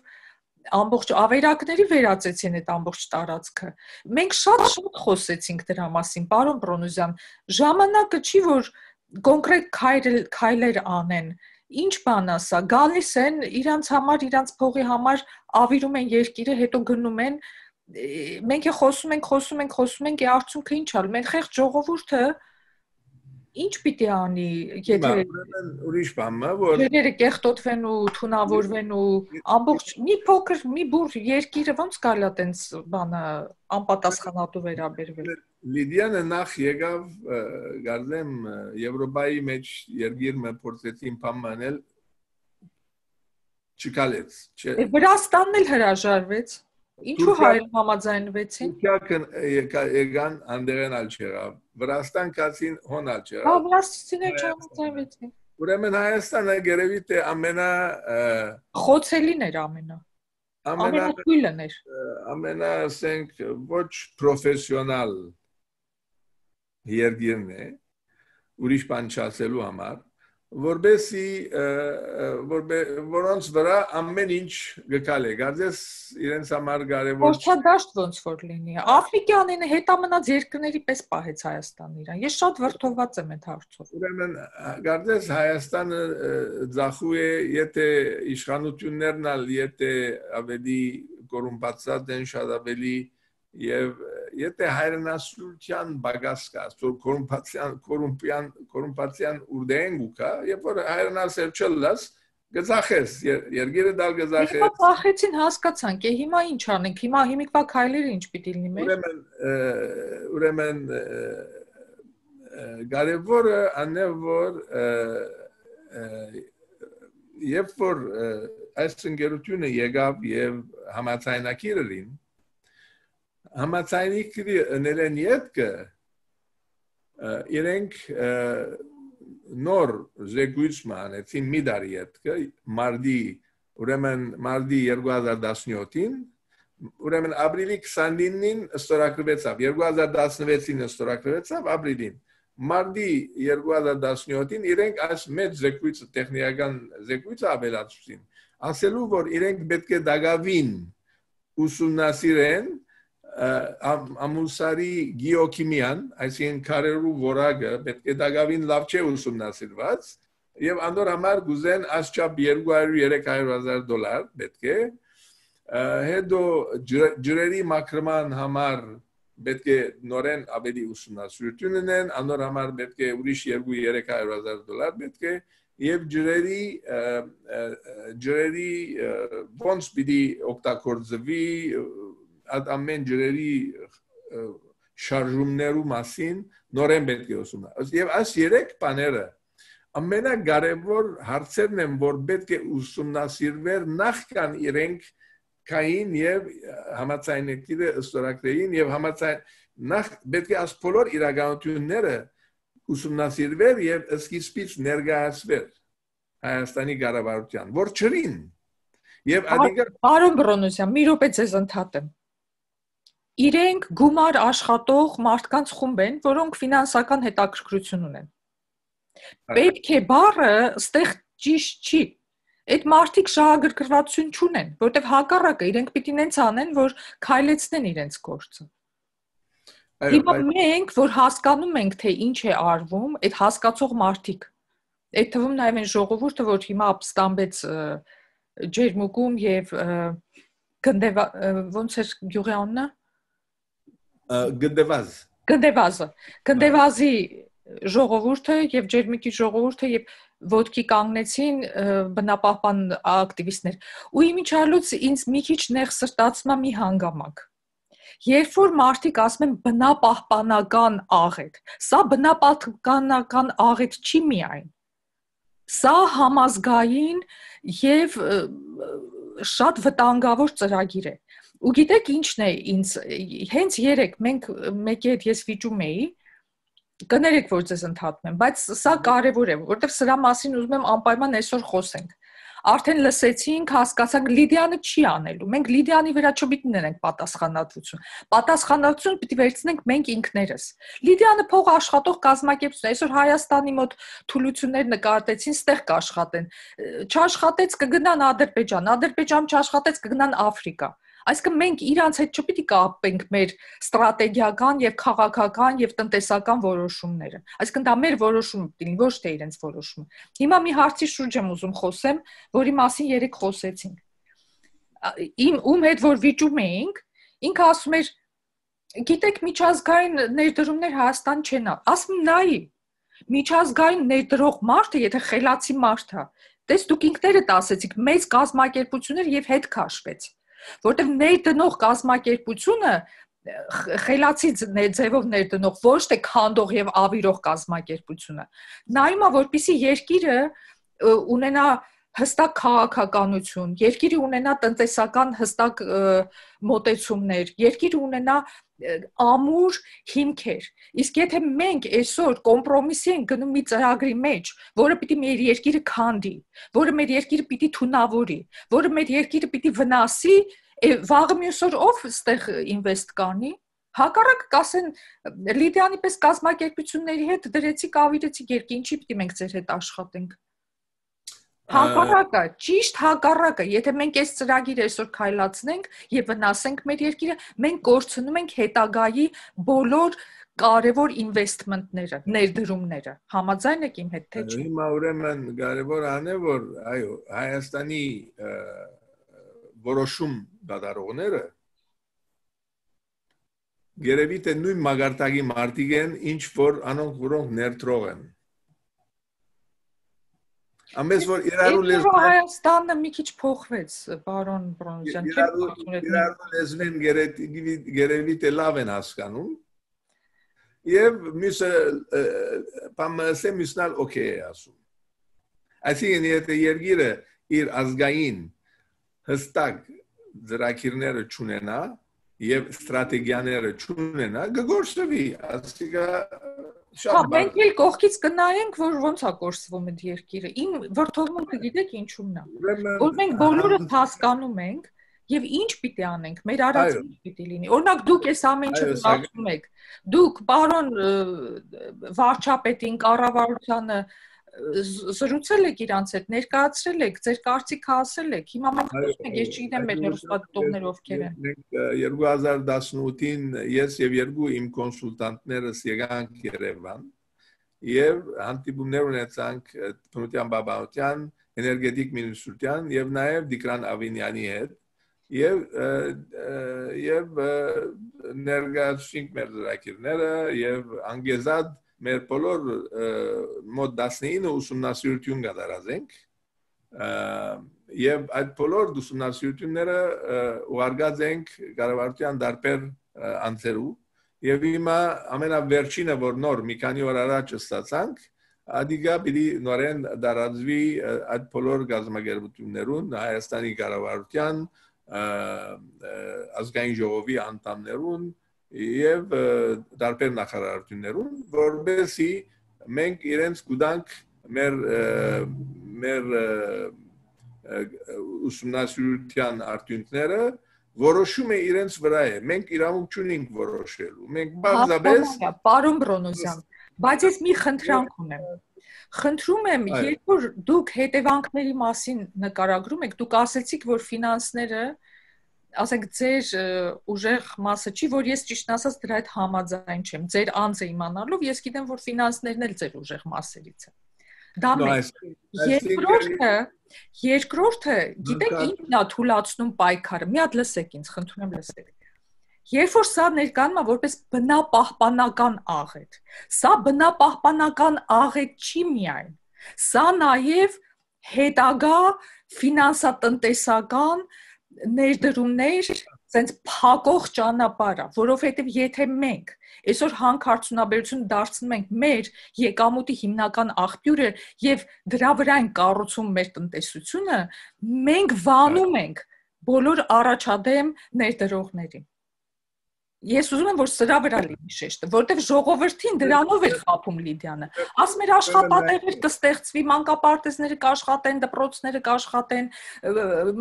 A: ամբողջ ավերակների վերածեցին այդ ամբողջ տարածքը մենք շատ խոսեցինք դրա մասին պարոն Բրոնոզյան ժամանակը չի որ կոնկրետ քայլեր անեն ինչ բան ասա գալիս են իրանց համար իրանց փողի համար ավիրում են երկիրը հետո գնում են մենք խոսում ենք արդյունքը ինչ ալ մեր խեղճ ժողովուրդը ինչ պիտի անի եթե
B: ուրիշ բան որ
A: երերը կեղտոտվեն ու թունավորվեն ու ամբողջ մի փոքր մի բուր երկիրը ոնց կարելի է տենց բանը անպատասխանատու վերաբերվել
B: Լիդիանը նախ եկավ գարդեմ Եվրոպայի մեջ երկիր մը փորձեցին բամանել չկալեց
A: Վրաստանն էլ հրաժարվեց ինչու հայերը համաձայնվեցին
B: եկան անդերեն ալչերավ Վրաստան կացին հոն ալչերավ
A: Վրաստանցիները չհամաձայնվեցին
B: ուրեմն Հայաստանը գերեւի թե ամենա
A: խոցելին էր ամենաթույլն էր
B: ամենա ասենք ոչ պրոֆեսիոնալ երկիրն է ուրիշ բան չասելու համար որոնց վրա ամեն ինչ գկալ է գարձես իրենց համար կարևոր
A: Փոստադաշտ ոնց որ լինի Աֆրիկյանին հետամնաց երկրների պես պահեց Հայաստանը իրան ես շատ վրդովված եմ այդ հարցով
B: ուրեմն գարձես Հայաստանը ձախու է եթե իշխանություններն ալ եթե ավելի կոռումպացած են շատ ավելի եւ եթե հայրենասիրության բագաս կա կոռումպացիան ուրդեն գուկա եւ որ հայրենասեր չլաս գծախես երկիրը դալ գծախես
A: Հիմա ծախեցին հասկացանք հիմա ինչ անենք հիմիկվա քայլերը ինչ պիտի լինի մեր
B: ուրեմն կարևորը անե որ երբ որ այս ընկերությունը եկավ եւ համաձայնակիրին Համաձայնիկի ներեն ետքը իրենք նոր զեկույցման էցին մի դարի ետքը ուրեմն մարդի 2017-ին ուրեմն ապրիլի 29-ին ստորագրվեցավ 2016-ին ստորագրվեցավ ապրիլին մարդի 2017-ին իրենք այս մեծ զեկույցը տեխնիկական զեկույցը ավելացրին ասելու որ իրենք պետք է դակավին ուսումնասիրեն ամուսարի գեոքիմիան, այսինքն քարերու որակը պետք է դակավին լավ չէ ուսումնասիրված եւ անդոր համար գուզեն ասչափ $200-300,000 պետք է հետո ջրերի մաքրման համար պետք է նորեն ավելի ուսումնասիրություն ունեն, անոր համար պետք է ուրիշ 2-300,000 պետք է եւ ջրերի ոնց պիտի օգտագործվի ամեն ջրերի շարժումներու մասին նորեն պետք է ուսումնասիրել եւ այս 3 բաները ամենակարևոր հարցերն են որ պետք է ուսումնասիրվեր նախքան իրենք կային եւ համաձայնագիրը ստորագրեին եւ նախ պետք է այս բոլոր իրականությունները ուսումնասիրվեր եւ սկիզբից ներկայացվեր Հայաստանի կառավարության որ չրին եւ
A: Պարոն Բրոնոսյան, մի րոպե ձեզ ընդհատեմ իրենք գումար աշխատող մարդկանց խումբ են, որոնք ֆինանսական հետաքրքրություն ունեն պետք է բառը ստեղ ճիշտ չի Այդ մարդիկ շահագրգռվածություն չունեն, որտեվ հակառակը իրենք պիտի նենց անեն, որ քայլեցնեն իրենց գործը։ Հիմա մենք, որ հասկանում ենք, թե ինչ է արվում, այդ հասկացող մարդիկ, այդ թվում նաև այն ժողովուրդը, որ հիմա ապստամբեց ջերմուկում եւ ոնց էր գյուղի անունը։ Գնդեվազի ժողովուրդը եւ ջերմուկի ժողովուրդը եւ ոտքի կանգնեցին բնապահպան ակտիվիստներ ու իմիջիալուց ինձ մի քիչ նեղսրտացնում է մի հանգամանք երբ որ մարդիկ ասում են բնապահպանական աղետ սա բնապահպանական աղետ չի միայն սա համազգային եւ շատ վտանգավոր ծրագիր է ու գիտեք ինչն է ինձ հենց երեք մենք մեկի հետ ես վիճում էի Կներեք, որ ձեզ ընդհատում եմ, բայց սա կարևոր է, որտեղ սրա մասին ուզում եմ անպայման այսօր խոսենք։ Արդեն լսեցինք, հասկացանք, Լիդիանը չի անելու։ Մենք Լիդիանի վրա չպիտի ներենք պատասխանատվություն։ Պատասխանատվություն պիտի վերցնենք մենք ինքներս։ Լիդիանը փող աշխատող կազմակերպություն է, այսօր Հայաստանի մոտ թուլություններ նկատեցին, ստեղ կաշխատեն։ Չաշխատեց կգնան Ադրբեջան չաշխատեց կգնան Աֆրիկա։ Այսինքն մենք իրանց հետ չպիտի կապենք մեր ստրատեգիական եւ քաղաքական եւ տնտեսական որոշումները։ Այսինքն դա մեր որոշումը պիտի լինի, ոչ թե իրենց որոշումը։ Հիմա մի հարցի շուրջ եմ ուզում խոսեմ, որի մասին երեք խոսեցինք։ Ում հետ որ վիճում էինք, ինքը ասում էր, գիտեք, միջազգային ներդրումներ Հայաստան չեն, ասում նայի։ Միջազգային ներդրող մարդը, եթե խելացի մարդ է, տես դուք ինքներդ ասեցիք, մեծ կազմակերպություններ եւ հետ քաշվեց։ Որտեղ ներդնող կազմակերպությունը խելացի ձևով ներդնող ոչ թե քանդող եւ ավիրող կազմակերպությունը նայումա որպեսի երկիրը ունենա հստակ քաղաքականություն երկիրը ունենա տնտեսական հստակ մոտեցումներ երկիրը ունենա ամուր հիմքեր իսկ եթե մենք այսօր կոմպրոմիսի ենք գնում մի ծրագրի մեջ որը պիտի մեր երկիրը քանդի որը մեր երկիրը պիտի թունավորի որը մեր երկիրը պիտի վնասի վաղը մյուս օր ով ստեղ ինվեստ կանի հակառակ կասեն Լիդիանի պես կազմակերպությունների հետ դրեցիք ավիրեցիք երկի ինչի պիտի մենք ձեր հետ աշխատենք Հակառակը, ճիշտ հակառակը, եթե մենք այս ծրագիրը այսօր քայլացնենք եւ վնասենք մեր երկիրը, մենք կորցնում ենք հետագայի բոլոր կարևոր ինվեստմենտները, ներդրումները։ Համաձայն եք իմ հետ թե չէ։
B: Հիմա ուրեմն կարևոր անե որ այո, Հայաստանի որոշում դատարողները գերեւի թե նույն մագարտակի մարդիկ են, ինչ որ անոնք որոնք ներդրող են։ Ամենից որ իրարու լեզվեն
A: Հայաստանը մի քիչ փոխվեց, պարոն Բրոնոսյան,
B: իրարու լեզվեն գերեւի թե լավ են հասկանում եւ մյուսը պամսե մյուսնալ օքեյ է ասում այսինքն եթե երկիրը իր ազգային հստակ ծրագիրները չունենա եւ ստրատեգիաները չունենա գորշվի ասիկա
A: Մենք էլ կողքից կնայենք, որ ոնց է կորսվում այդ երկիրը։ Իմ վրդովմունքը գիտեք ինչու՞մն է։ Որ մենք բոլորս հասկանում ենք եւ ինչ պիտի անենք, մեր արածը պիտի լինի։ Օրինակ դուք այս ամեն ինչը ասում եք։ Դուք պարոն վարչապետին, կառավարությանը զրուցել եք իրանց հետ, ներկայացրել եք, ձեր կարծիքը ասել եք։ Հիմա մենք խոսում ենք, ես չգիտեմ մեր հեռուստադիտողները ովքեր են։
B: 2018-ին ես եւ երկու իմ կոնսուլտանտներս եկանք Երևան եւ հանդիպումներ ունեցանք Փնոթյան Բաբանյան, էներգետիկ մինիստրության եւ նաեւ Դիկրան Ավինյանի հետ եւ ներգաղթենք մեր ծրագիրները եւ անգեզած մեր բոլոր մոտ 19 ուսումնասիրություն կատարած ենք եւ այդ բոլոր ուսումնասիրությունները ուղարկած ենք կառավարության դարբեր անձերու եւ հիմա ամենավերջինը որ նոր մի քանի օր առաջ ստացանք Ադիգա պիտի նորեն դարածվի այդ բոլոր գազམ་ագերբություններուն Հայաստանի կառավարության ազգային ժողովի անդամներուն եւ դարբեր նախարարություններուն որովհետեւ մենք իրենց կուտանք մեր ուսումնասիրության արդյունքները որոշում է իրենց վրա է մենք իրավունք չունենք որոշելու մենք բարձրապես
A: Պարոն Բրոնոզյան բայց ես մի խնդրանք ունեմ Խնդրում եմ երբ որ դուք հետևանքների մասին նկարագրում եք դուք ասեցիք որ ֆինանսները ասենք ձեր ուժեղ մասը չի որ ես ճիշտ ասած դրա հետ համաձայն չեմ ձեր անձը իմանալով ես գիտեմ որ ֆինանսներն էլ ձեր ուժեղ մասերից է դա մեկ երկրորդը գիտեք ինչն է թույլատնում պայքարը մի հատ լսեք ինձ խնդրում եմ լսեք Երբ որ սա ներկայանում է որպես բնապահպանական աղետ սա բնապահպանական աղետ չի միայն սա նաև հետագա ֆինանսատնտեսական ներդրումներ sense փակող ճանապարհ է, որովհետև եթե մենք այսօր հանքարդյունաբերություն դարձնում ենք մեր եկամուտի հիմնական աղբյուրը եւ դրա վրա են կառուցում մեր տնտեսությունը, մենք վանում ենք բոլոր առաջադեմ ներդրողներին։ Ես ուզում եմ որ սրա վրա լինի շեշտը, որտեվ ժողովրդին դրանով է խափում Լիդիանը։ Ասում էր աշխատատեղեր կստեղծվի, մանկապարտեզները կաշխատեն, դպրոցները կաշխատեն,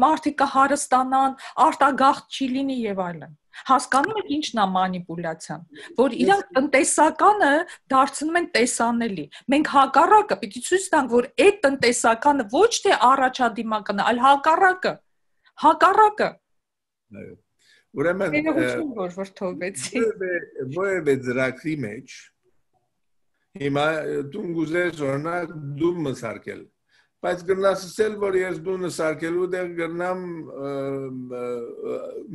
A: մարդիկ կհարստանան, արտագաղթ չի լինի եւ այլն։ Հասկանում եք ինչն է մանիպուլյացիան, որ իրանք տնտեսականը դարձնում են տեսանելի։ Մենք հակառակը պիտի ցույց տանք, որ այդ տնտեսականը ոչ թե առաջադիմական է, այլ հակառակը։
B: Ուրեմն որևէ ծրագրի մեջ հիմա դու գուզես օրինակ դու մսարկել բայց գնաս ասել որ ես դու մսարկելու դեր գնամ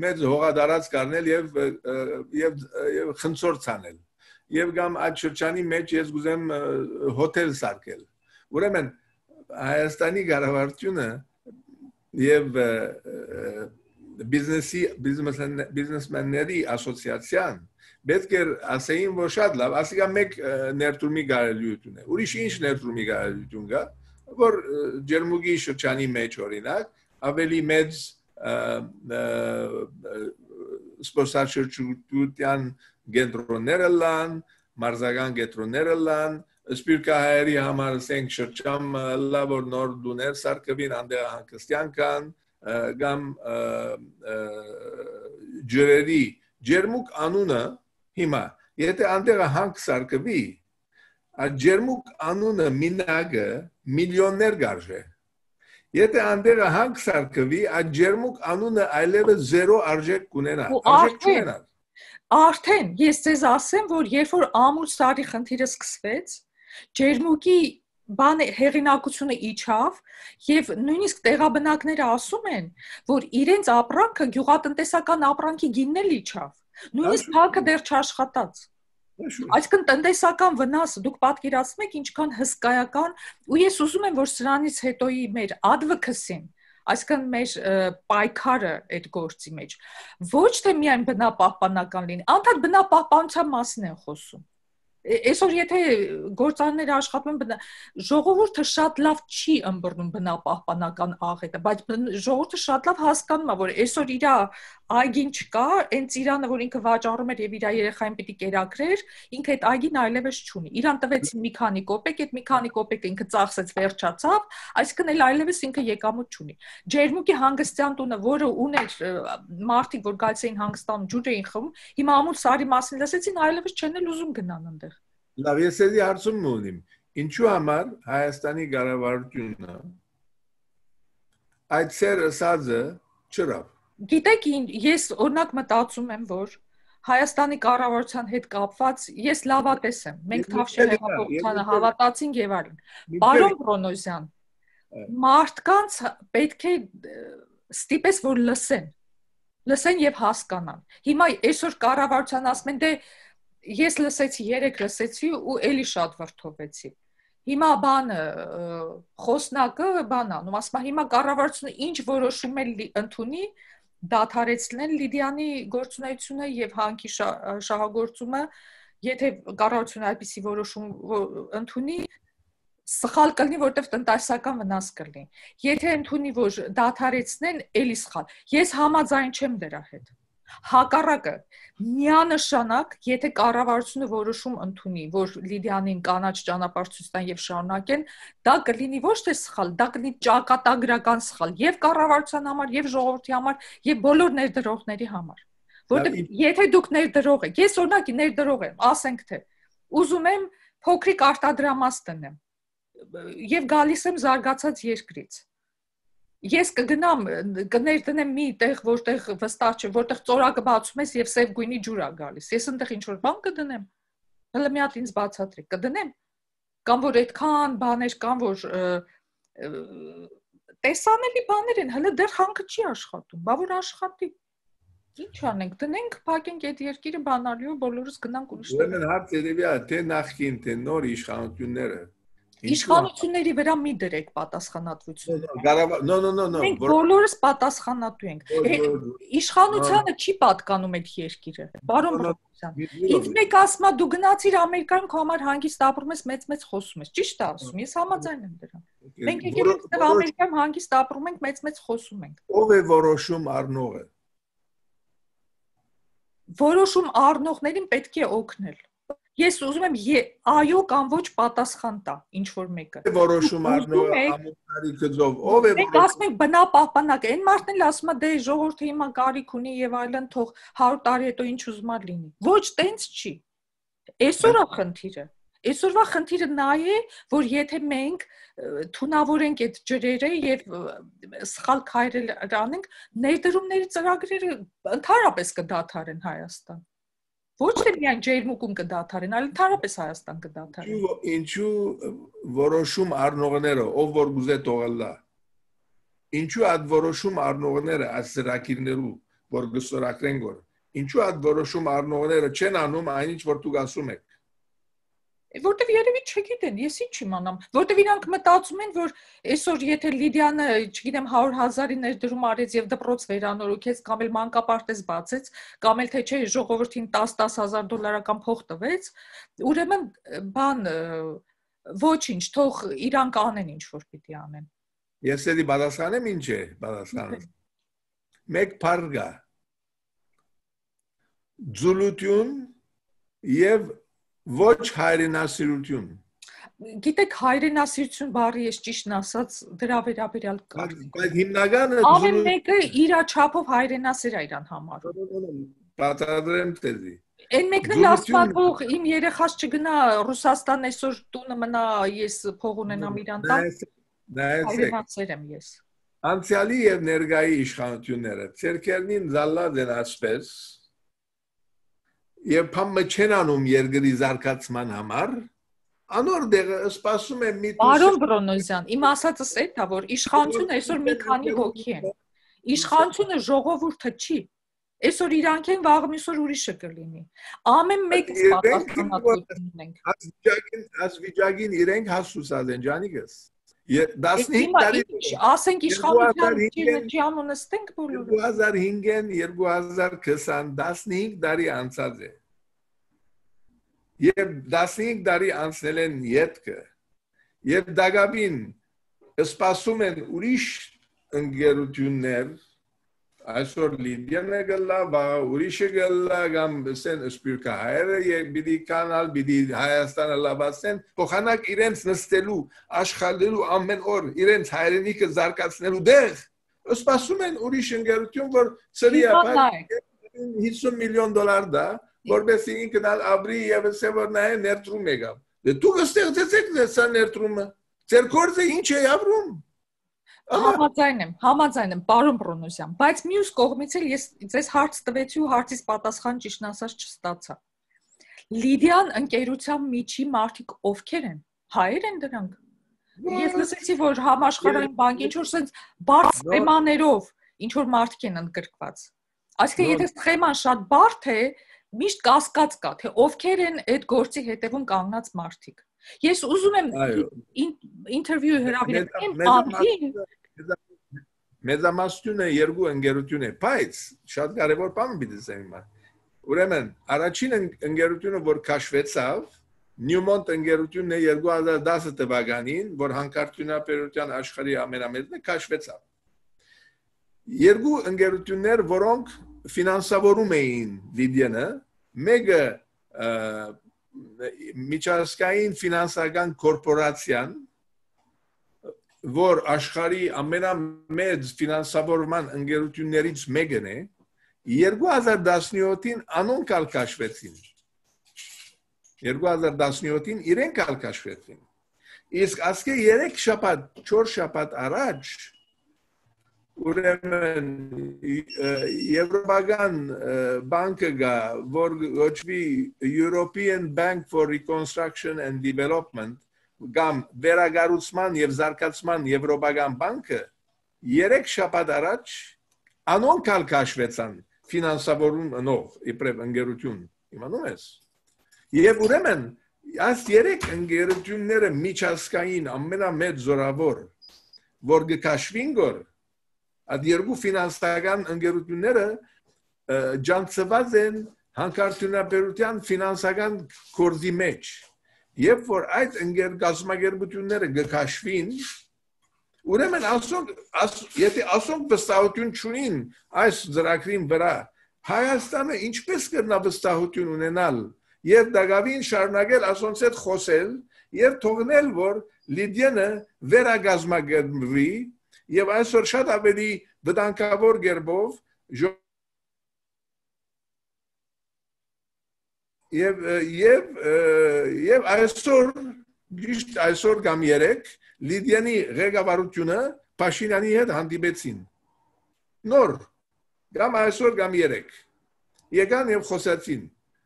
B: մեծ հողադարած կառնել եւ խնցորդ ցանել եւ գամ այդ շրջանի մեջ ես գուզեմ հոթել սարքել ուրեմն Հայաստանի կառավարությունը եւ բիզնեսմենների ասոցիացիան պետք է ասեին որ շատ լավ ասիկա մեկ ներդրումի կարելիություն է ուրիշ ինչ ներդրումի կարելիություն կա որ ջերմուկի շրջանի մեջ օրինակ ավելի մեծ սպորտաշրջության կենտրոնները լան մարզական կենտրոնները լան սպիրկահայերի համար ասենք շրջան լավ որ նոր դուներ սարքվին անդեղ հանգստյան կան գամ ջրերի ջերմուկ անունը հիմա եթե անդեղը հանք սարկվի այդ ջերմուկ անունը մինագը միլիոններ գարժե եթե անդեղը հանք սարկվի այդ ջերմուկ անունը այլևս զերո արժեք կունենա
A: արդեն ես ձեզ ասեմ որ երբ որ ամուր սարի խնդիրը սկսվեց ջերմուկի բան հեղինակությունը իջավ եւ նույնիսկ տեղաբնակները ասում են որ իրենց ապրանքը գյուղատնտեսական ապրանքի գինն էլ իջավ նույնիսկ քաղաքը դեռ չաշխատած այսինքն տնտեսական վնասը դուք պատկերացնում եք ինչքան հսկայական ու ես ուզում եմ որ սրանից հետոյի մեր advocacy-ն այսինքն մեր պայքարը այդ գործի մեջ ոչ թե միայն բնապահպանական լինի անդադ բնապահպանության մասին են խոսում Այսօր եթե գործարները աշխատում են ժողովուրդը շատ լավ չի ըմբռնում բնապահպանական աղետը, բայց ժողովուրդը շատ լավ հասկանում է, որ այսօր իր այգին չկա, այն ծիրանը, որ ինքը վաճառում էր եւ իր երեխային պիտի կերակրեր, ինքը այդ այգին այլևս չունի։ Իրան տվեցին մի քանի կոպեկ, այդ մի քանի կոպեկը ինքը ծախսեց, վերջացավ, այսինքն էլ այլևս ինքը եկամուտ չունի։ Ջերմուկի հանգստյան տունը, որը ուներ մարդիկ, որ գալիս էին հանգստանում, ջուր էին խմում, հիմա ամուր սարի մասին լսեցին, այլևս չեն էլ ուզում գնան այնտեղ։
B: Լավ, ես էլի հարցում ունիմ, ինչու համար Հայաստանի կառավարությունը այդ ծեր ասածը չրավ։
A: Գիտեք, ես օրինակ մտածում եմ, որ Հայաստանի կառավարության հետ կապված ես լավատես եմ։ Մենք Թավշյա հեղափոխությանը հավատացինք եւ այլն։ Պարոն Բրոնոզյան, մարդկանց պետք է ստիպես որ լսեն։ լսեն եւ հասկանան։ Հիմա այսօր կառավարության ասում են դե ես լսեցի, երեք լսեցի ու էլի շատ վրդովեցի։ Հիմա բանը խոսնակը բանանում, ասում է հիմա կառավարությունը ինչ որոշում է ընդունի, դադարեցնել Լիդիանի գործունեությունը եւ հանքի շահագործումը, եթե կառավարությունը այդպիսի որոշում ընդունի, սխալ կլինի, որտեղ տնտեսական վնաս կլինի։ Եթե ընդունի, որ դադարեցնեն, էլի սխալ։ Ես համաձայն չեմ դրա հետ։ Հակառակը, միանշանակ, եթե կառավարությունը որոշում ընդունի, որ Լիդիանին կանաչ ճանապարհ ցույց տան եւ շարունակեն, դա կլինի ոչ թե սխալ, դա կլինի ճակատագրական սխալ եւ կառավարության համար, եւ ժողովրդի համար, եւ բոլոր ներդրողների համար։ Որտեղ եթե դուք ներդրող եք, ես օրինակ ներդրող եմ, ասենք թե ուզում եմ փոքրիկ արտադրամաս տնեմ եւ գալիս եմ զարգացած երկրից։ Ես կգնամ, կներդնեմ մի տեղ, որտեղ վստահ չէ, որտեղ ծորակը բացում ես եւ սև գույնի ջուր է գալիս։ Ես այնտեղ ինչ որ բան կդնեմ։ Հələ մի հատ ինձ բացատրեք, կդնեմ։ Կամ որ այդքան բաներ կան, որ տեսանելի բաներ են, հələ դեռ հանքը չի աշխատում, բա որ աշխատի։ Ինչ անենք, դնենք, փակենք այդ երկիրը բանալիով, բոլորս գնանք ուրիշ տեղ։
B: Ուրեմն հարց երևի է, թե նախքին, թե նոր իշխանությունները
A: Իշխանությունների վրա մի դրեք պատասխանատվությունը։
B: No.
A: Մենք բոլորս պատասխանատու ենք։ Իշխանությանը չի պատկանում այդ երկիրը։ Բարոն Բրոնոսյան, ինձ մեկ ասում է դու գնացիր Ամերիկայում քո համար հանգիստ ապրում ես, մեծ խոսում ես։ Ճիշտ է ասում, ես համաձայն եմ դրան։ Մենք եկել ենք այստեղ Ամերիկայում հանգիստ ապրում ենք, մեծ խոսում ենք։
B: Ով է որոշում առնողը։
A: Որոշում առնողներին պետք է օգնել։ Ես ուզում եմ այո կամ ոչ պատասխան տա, ինչ որ մեկը։
B: Որոշում առնողը ամուսնարի գծով, ով է որոշում։
A: Մենք ասում ենք բնապահպանակ, այն մարդն էլ ասում է դե ժողովուրդը հիմա կարիք ունի եւ այլն, թող 100 տարի հետո ինչ ուզում ա լինի։ Ոչ, տենց չի։ Այսօր է խնդիրը։ Այսօրվա խնդիրը նա է, որ եթե մենք թունավորենք այդ ջրերը եւ սխալ քայլեր անենք, ներդրումների ծրագրերը ընդհանրապես կդադարեն Հայաստան։ Ոչ թե միայն ջերմուկում կդադարեն, այլ ընդհանրապես Հայաստան կդադարեն։
B: Ինչու որոշում առնողները, ով որ գուզե թողելա։ Ինչու այդ որոշում առնողները ասրակիրներու, որ գսորակրեն գոր։ Ինչու այդ որոշում առնողները չեն անում այնինչ որ դուք ասում եք։
A: Որտեվ երևի չգիտեն, ես ինչ իմանամ, որտեվ իրանք մտածում են, որ այսօր եթե Լիդիանը, չգիտեմ, 100,000-ի ներդրում արեց եւ դպրոց վերանորոգեց, կամ էլ մանկապարտեզ բացեց, կամ էլ թե չէ ժողովրդին $10,000 փող տվեց, ուրեմն բան ոչինչ, թող իրանք անեն ինչ որ պիտի անեն։
B: Ես էլի պատասխանեմ ինչ է, պատասխանը։ Մեկ բարգա։ Ձուլություն եւ ոչ հայրենասիրություն։
A: Գիտեք, հայրենասիրություն բառը ես ճիշտն ասած դրա վերաբերյալ կարծիք։
B: Բայց հիմնականը
A: ամեն մեկը իր չափով հայրենասիր է իրան համարում։
B: Պատրաստեմ տեզի։
A: Այն մեկն էլ ասում է, թող իմ երեխաս չգնա Ռուսաստան այսօր տունը մնա, ես փող ունենամ իրան տան։ Հայրենասեր եմ ես։
B: Անցյալի եւ ներկայի իշխանությունները ցերկերնին զալլած են ասպես Եվ փամը չեն անում երկրի զարգացման համար, անոր դեղը սպասում է մի
A: Բարոն Բրոնոսյան, իմ ասածս է դա, որ իշխանությունը այսօր մի քանի հոգի են։ Իշխանությունը ժողովուրդը չի։ Այսօր իրանք են, վաղը մյուսօր ուրիշը կլինի։ Ամեն մեկս պատասխանատվություն ունենք։
B: Ասվիճակին իրենք հասուսած են, ջանիկս։ 15 տարի
A: ասենք իշխանության ջամը նստենք բոլորը
B: 2005-ին 2020 15 տարի անցած է եւ 15 տարի անցնել են յետքը եւ դակաբին սպասում են ուրիշ ընկերություններ այսօր Լիդիանը գլա ուրիշը գլա կամ սեն սպիրկահայերը եւ բիդի կանալ բիդի Հայաստանը լավացեն փոխանակ իրենց նստելու աշխալելու ամեն օր իրենց հայրենիքը զարգացնելու դեղ սպասում են ուրիշ ընկերություն որ ծրի ապա $50 միլիոն դա որպես ինքն ապրի եւ ասե որ նա ներդրում եկավ դե դուք ստեղծեցեք դեսա ներդրումը ձեր գործը ինչ է ապրում
A: Համաձայն եմ, պարոն Բրոնոսյան, բայց մյուս կողմից էլ ես ձեզ հարց տվեցի ու հարցից պատասխան ճիշտն ասած չստացա։ Լիդիան ընկերության միջի մարդիկ ովքեր են։ Հայեր են դրանք։ Ես լսեցի, որ համաշխարհային բանկի ինչ որ sense բարձ թեմաներով ինչ որ մարդիկ են ընդգրկված։ Այսինքն եթե սխեման շատ բարդ է, միշտ կասկած կա, թե ովքեր են այդ գործի հետևում կանգնած մարդիկ։ Ես ուզում եմ ինտերվյու հրավիրեմ Անդին
B: մեծամասնությունը երկու ընկերություն է, բայց շատ կարևոր բան պիտի ասեմ։ Ուրեմն առաջին ընկերությունը, որ քաշվեցավ, Newmont ընկերությունն է 2010 թվականին, որ հանքարդյունաբերության աշխարհի ամենամեծն է, քաշվեցավ։ Երկու ընկերություններ, որոնք ֆինանսավորում էին Լիբիանը, մեկը միջազգային ֆինանսական կորպորացիան, որ աշխարհի ամենամեծ ֆինանսավորման ընկերություններից մեկն է, 2017-ին անոնք քաշվեցին։ 2017-ին իրենք քաշվեցին։ Իսկ ասկե 3 շաբաթ, 4 շաբաթ առաջ ուրեմն Եվրոպական բանկը գա, որ գոչվի European Bank for Reconstruction and Development, կամ վերագառուցման եւ զարգացման Եվրոպական բանկը 3 շաբաթ առաջ անոնք քաշվեցան ֆինանսավորումով իբրև ընկերություն, իմանում ես։ Եվ ուրեմն այս 3 ընկերությունները միջազգային ամենամեծ զորավոր, որ գքաշվին գոր, այդ երկու ֆինանսական ընկերությունները ջանցված են հանքարդյունաբերության ֆինանսական կորզի մեջ։ Երբ որ այդ գազམ་ագերբությունները գքաշվին, ուրեմն եթե ասոնք վստահություն չունին այս ծրագրին վրա, Հայաստանը ինչպես կրնա վստահություն ունենալ եւ դակավին շարունակել ասոնց հետ խոսել եւ թողնել, որ Լիբիանը վերագազམ་ագրվի եւ այսօր շատ ավելի վտանգավոր գերբով եւ այսօր կամ երեք Լիբիանի ղեկավարությունը Փաշինյանի հետ հանդիպեցին նոր կամ այսօր կամ երեք եկան եւ խոսեցին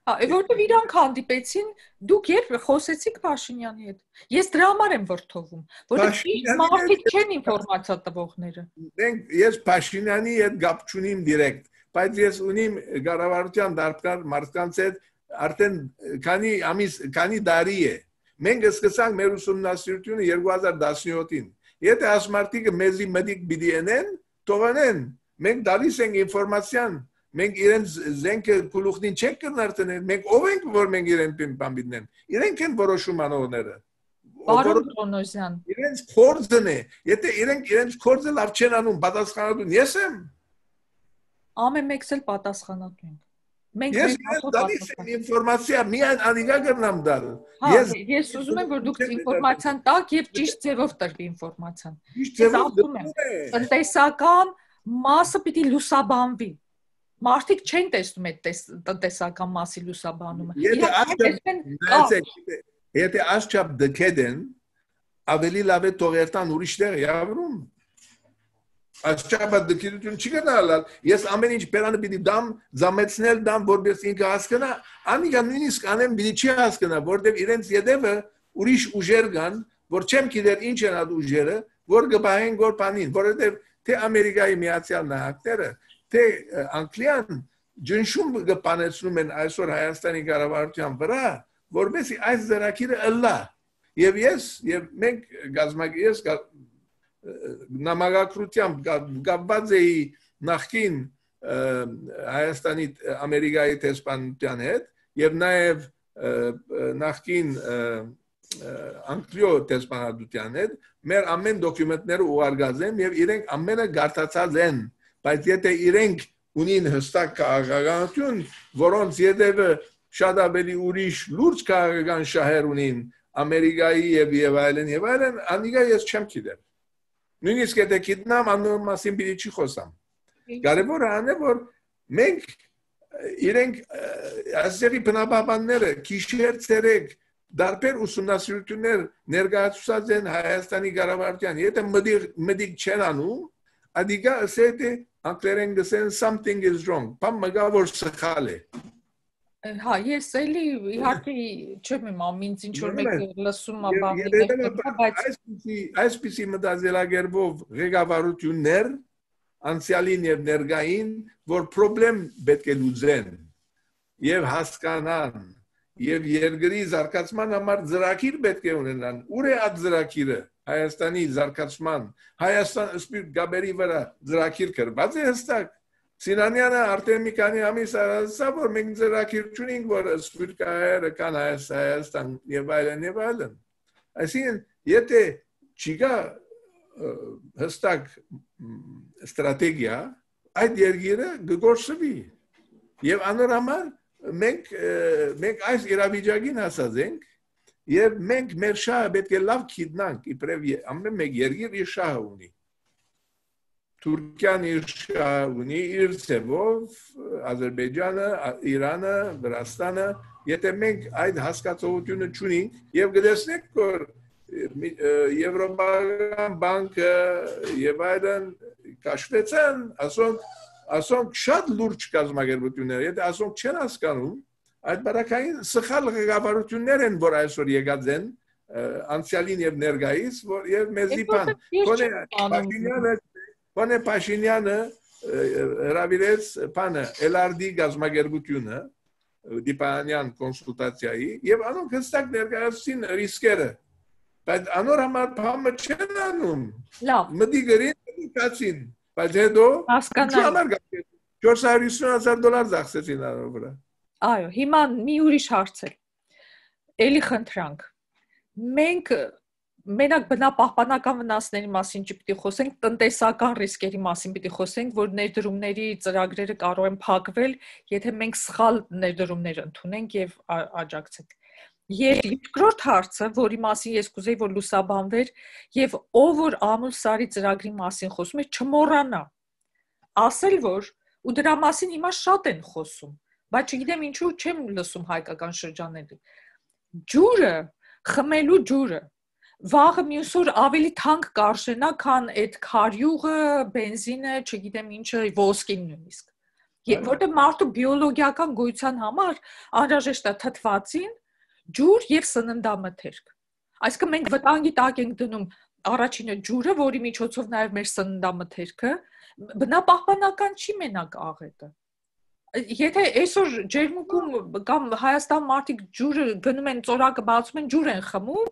A: Որտեւ իրանք հանդիպեցին, դուք երբ խոսեցիք Փաշինյանի հետ։ Ես դրա համար եմ վրթովում, որտեղ մարդիկ չեն ինֆորմացիա տվողները։
B: Ես Փաշինյանի հետ գապ չունիմ դիրեկտ, բայց ես ունիմ կառավարության դարբնար մարդկանց հետ արդեն քանի տարի է։ Մենք սկսանք մեր ուսումնասիրությունը 2017-ին։ Եթե այս մարդիկը մեզի մտիկ պիտի ենեն, թողնեն։ Մենք դալիս ենք ինֆորմացիան Մենք իրենց զենքը գլուխին չենք կնարտնել, մենք ով ենք, որ մենք իրեն բան բիտնեն։ Իրենք են որոշում անողները։
A: Պարոն Տոնոսյան։
B: Իրենց կորձն է։ Եթե իրենց կորձը լավ չեն անում, պատասխանատուն ես եմ։
A: Ամեն մեկս էլ պատասխանատու ենք։
B: Ես դալիս եմ ինֆորմացիա, միայն անիգա կրնամ դալ։
A: Ես ուզում եմ, որ դուք ինֆորմացիան տաք եւ ճիշտ ձևով տրվի ինֆորմացիան։
B: Ճիշտ ձևով։
A: Տնտեսական մասը պիտի լուսաբանվի։ Մարդիկ չեն տեսնում այդ տնտեսական մասի լուսաբանումը։
B: Եթե ասչափ դքեդեն, ավելի լավ է թողերտան ուրիշ տեղ явրում։ Ասչափ դքեդություն չի գնալ։ Ես ամեն ինչ բերանը պիտի դամ, զամեցնել դամ, որպես ինքը հասկանա, անիկա նույնիսկ անեմ պիտի չի հասկանա, որտեղ իրենց յետևը ուրիշ ուժեր կան, որ չեմ գիտեր ինչ են այդ ուժերը, որ գբահեն գոր բանին, որովհետև թե Ամերիկայի Միացյալ Նահանգները թե Անգլիան ջնշում կպանեցնում են այսօր Հայաստանի կառավարության վրա, որովհետեւ այս ծրագիրը ըլլա։ Եվ մենք գազམ་ագես նամակագրությամբ գաբված էի նախքին Հայաստանի Ամերիկայի տեսփանության հետ եւ նաեւ նախքին Անգլիո տեսփանության հետ մեր ամեն դոկումենտները ուղարկած են եւ իրենք ամենը գարտացած են բայց եթե իրենք ունին հստակ քաղաքականություն, որոնց յետևը շատ ավելի ուրիշ լուրջ քաղաքական շահեր ունին Ամերիկայի եւ այլն, անիկա ես չեմ գիտեր։ Նույնիսկ եթե գիտնամ, անոր մասին պիտի չի խոսամ։ Կարևորը այն է, որ մենք իրենք ասերի բնաբանները քիշեր ցերեկ դարբեր ուսումնասիրություններ ներկայացուցած են Հայաստանի կառավարության։ Եթե մտիկ չեն անում, ադիգա ասեթե անգլերեն գսեն something is wrong։ Բան մգա որ սխալ է։
A: Հա, ես էլի իհարկե չեմ իմամ, ինձ ինչ որ մեկը լսում է բավական, բայց
B: այսպիսի մտածելակերպով ղեկավարություններ անցյալին եւ ներկային, որ խնդրեմ պետք է լուծեն եւ հասկանան եւ երկրի զարգացման համար ծրագիր պետք է ունենան։ Ուր է այդ ծրագիրը Հայաստանի զարգացման, Հայաստան սպիրտ գաբերի վրա ծրագիր կրված է հստակ։ Սինանյանը արդեն մի քանի ամիս ասաց, որ մենք ծրագիր չունենք, որ սպիրտ գաբերը կան Հայաստան եւ այլն։ Այսինքն, եթե չկա հստակ ստրատեգիա, այդ երկիրը կգործվի։ Եվ անորոշ մենք այս իրավիճակին հասած ենք եւ մենք մեր շահը պետք է լավ գիտնանք, իբրև ամեն մեկ երկիր իր շահը ունի։ Թուրքիան իր շահը ունի, իր ձևով, Ադրբեջանը, Իրանը, Վրաստանը, եթե մենք այդ հասկացողությունը չունենք եւ գտեսնենք, որ Եվրոպական բանկը եւ այլն կաշվեցան, ասոնք շատ լուրջ կազմակերպություններ, եթե ասոնք չեն հասկանում, այդ բարակային սխալ ղեկավարություններ են, որ այսօր եկած են անցյալին եւ ներկայիս, որ եւ մեզի բան Փաշինյանը հրավիրեց բանը LRD գազམ་ագերբությունը դիպանյան կոնսուլտացիայի եւ անոնք հստակ ներկայացրին ռիսկերը, բայց անոր համար բանը չեն անում։ Լավ։ Մտի գրին կացին, բայց հետո հասկանալ 450,000 դոլար ծախսեցին անոր վրա։
A: Այո, հիմա մի ուրիշ հարց է։ Էլի խնդրանք։ Մենք մենակ բնապահպանական վնասների մասին չպիտի խոսենք, տնտեսական ռիսկերի մասին պիտի խոսենք, որ ներդրումների ծրագրերը կարող են փակվել, եթե մենք սխալ ներդրումներ ընդունենք եւ աջակցենք։ Եվ երկրորդ հարցը, որի մասին ես կուզեի, որ լուսաբանվեր, եւ ով որ Ամուլսարի ծրագրի մասին խոսում է, չմոռանա ասել, որ ու դրա մասին հիմա շատ են խոսում, բայց չգիտեմ ինչու չեմ լսում հայկական շրջանների։ Ջուրը, խմելու ջուրը, վաղը մյուս օր ավելի թանկ կարժենա, քան այդ քարյուղը, բենզինը, չգիտեմ ինչը, ոսկին նույնիսկ։ Որտեղ մարդու բիոլոգիական գոյության համար անհրաժեշտ է թթվածին, ջուր եւ սննդամթերք։ Այսինքն մենք վտանգի տակ ենք դնում առաջինը ջուրը, որի միջոցով նաեւ մեր սննդամթերքը, բնապահպանական չի մենակ աղետը։ Եթե այսօր ջերմուկում կամ Հայաստան մարդիկ ջուրը գնում են, ծորակը բացում են, ջուր են խմում,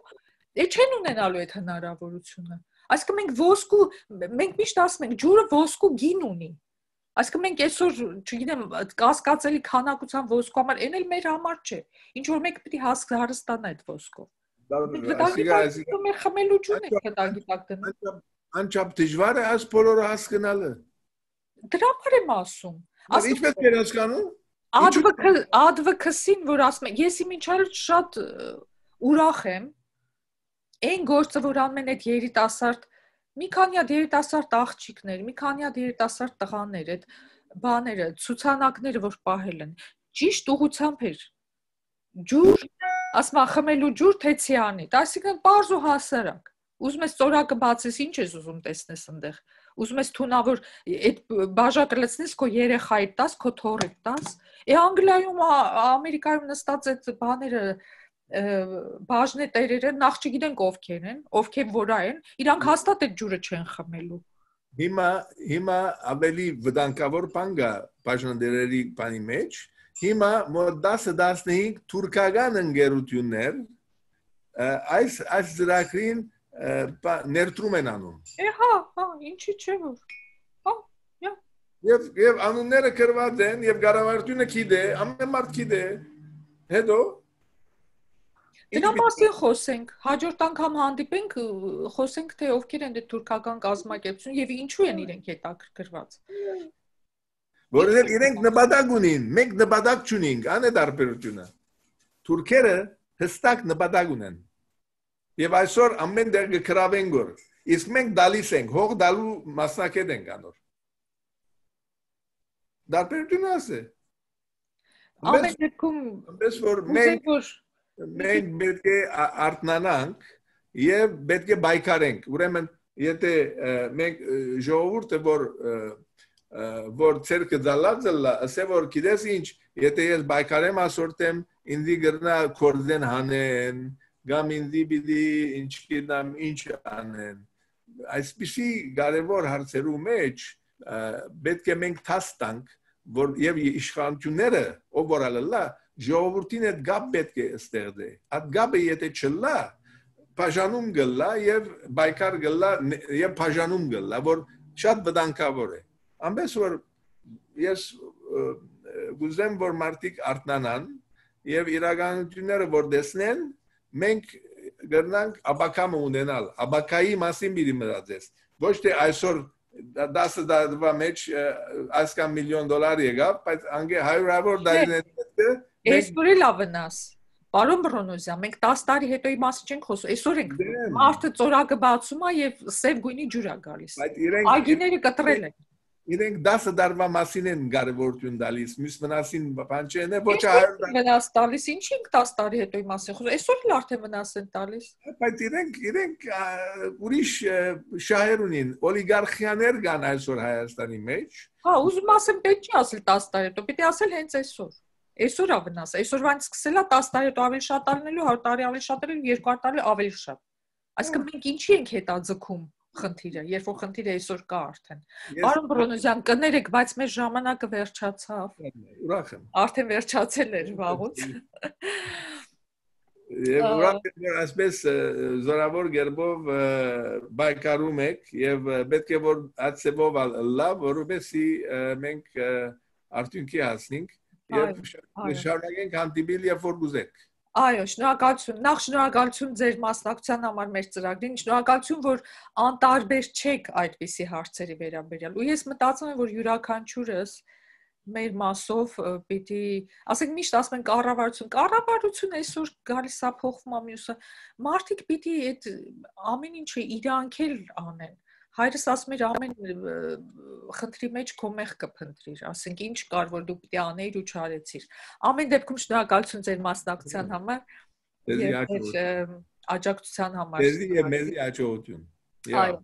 A: չեն ունենալու այդ հնարավորությունը։ Այսինքն մենք միշտ ասում ենք, ջուրը ոսկու գին ունի։ Այսինքն մենք այսօր, չգիտեմ, կասկածելի քանակության ոսկու համար, այն էլ մեր համար չէ։ Ինչ որ մենք պետք է հարստանա այդ ոսկով։ Մենք խմելու ջուրն ենք վտանգի տակ դնում։
B: Անչափ դժվար է այս բոլորը հասկանալը։
A: Դրա համար եմ ասում։
B: Ինչպես եք հասկանում։
A: Advocacy-ն, որ ասում եմ, ես իմիջիայլ շատ ուրախ եմ։ Այն գործը, որ անում են այդ երիտասարդ, մի քանի հատ երիտասարդ աղջիկներ, մի քանի հատ երիտասարդ տղաներ, այդ բաները, ցուցանակները, որ պահել են, ճիշտ ուղղությամբ էր։ Ջուր, ասում եմ, խմելու ջուր թեցյանի, այսինքն պարզ ու հասարակ։ Ուզում ես ծորակը բացես, ինչ ես ուզում տեսնես այնտեղ։ Ուզում ես թունավոր այդ բաժակը լցնես քո երեխայի տաս, քո թոռի տաս։ Անգլիայում, Ամերիկայում նստած այդ բաները բաժնետերերը նախ չգիտենք ովքեր են, ովքեր որա են, իրանք հաստատ այդ ջուրը չեն խմելու։
B: Հիմա ավելի վտանգավոր բան կա բաժնետերերի բանի մեջ։ Հիմա մոտ 10-15 թուրքական ընկերություններ այս ծրագրին ներդրում են անում։
A: Հա, ինչի՞ չէ որ։
B: Եվ անունները գրված են, եւ կառավարությունը գիտե, ամեն մարդ գիտե։ Հետո
A: դրա մասին խոսենք, հաջորդ անգամ հանդիպենք, խոսենք թե ովքեր են այդ թուրքական կազմակերպություն եւ ինչու են իրենք հետաքրքրված։
B: Որովհետեւ իրենք նպատակ ունին, մենք նպատակ չունենք, ան է տարբերությունը։ Թուրքերը հստակ նպատակ ունեն։ Եվ այսօր ամեն դեր կգրավեն գոր։ Իսկ մենք դալիս ենք, հող դալու մասնակետ ենք անոր։ Տարբերությունը ասե։
A: Ամեն դեպքում
B: որ մենք պետք է արթնանանք եւ պետք է բայկարենք։ Ուրեմն եթե մենք ժողովուրդը որ ցերկը դալածելա, ասե որ գիտես ինչ, եթե ես բայկարեմ ասորտեմ, ինձի գրնա կորձեն հանեն, կամ ինձի պիտի ինչ գիտեմ ինչ անեն։ Այսպիսի կարևոր հարցերու մեջ պետք է մենք տաստանք որ եւ իշխանությունները ով որ ալլա ժողովրդին այդ գապ պետք է ստեղծե այդ գապը եթե չլա բաժանում գլա եւ բայկար գլա եւ բաժանում գլա որ շատ վտանգավոր է ամենս որ ես գուզեմ որ մարդիկ արտնանան եւ իրականությունները որ տեսնեն մենք գտնանք աբակամը ունենալ աբակայի մասին մի մտածես ոչ թե այսօր 10 դարվա մեջ այսքան միլիոն դոլար եկավ բայց անգե հարյուրավոր դարիներ
A: Այսօր էլ ավնաս Պարոն Բրոնոզյան մենք 10 տարի հետոյի մասին չենք խոսում այսօր ենք մարդը ծորակը բացում է եւ սև գույնի ջուր է գալիս այգիները կտրել են
B: իրենք 10 դարվա մասին են կարևորություն տալիս մյուս մնացին բան չեն ոչ
A: վնաս տալիս ինչի ենք 10 տարի հետոյի մասին խոսում այսօր էլ արդեն վնաս են տալիս
B: բայց իրենք ուրիշ շահեր ունին օլիգարխիաներ կան այսօր Հայաստանի մեջ
A: հա ուզում ասեմ պետք չի ասել 10 տարի հետո պիտի ասել հենց այսօր ավնաս այսօրվանից սկսելա 10 տարի հետո ավելի շատ ալնելու 100 տարի ավելի շատ ալնելու 200 տարի ավելի շատ այսինքն մենք ինչի ենք հետաձգում խնդիրը երբ որ խնդիրը այսօր կա արդեն Պարոն Բրոնոզյան կներեք բայց մեր ժամանակը վերջացավ
B: ուրախ եմ
A: արդեն վերջացել էր վաղուց
B: եւ ուրախ եմ ասես զորավոր գերբով բայկարում եք եւ պետք է որ ածեբով լավ որովհետեւ մենք արդյունքի հասնենք եւ շարունակենք հանդիպել եւ որ գուզեք
A: Այո, շնորհակալություն։ Նախ շնորհակալություն ձեր մասնակցության համար մեր ծրագրին։ Շնորհակալություն, որ անտարբեր չեք այդպիսի հարցերի վերաբերյալ։ Ու ես մտածում եմ, որ յուրաքանչյուրս մեր մասով պիտի, ասենք միշտ ասում են կառավարություն այսօր գալիս է փոխվում է մյուսը։ Մարդիկ պիտի այդ ամեն ինչը իրանք էլ անեն։ Հայրս ասում էր ամեն խնդրի մեջ քո մեղ կփնտրիր, ասենք ինչ կար որ դու պիտի անեիր ու չարեցիր։ Ամեն դեպքում շնորհակալություն ձեր մասնակցության համար եւ աջակցության համար։
B: Մեզի աջակցություն։
A: Այո։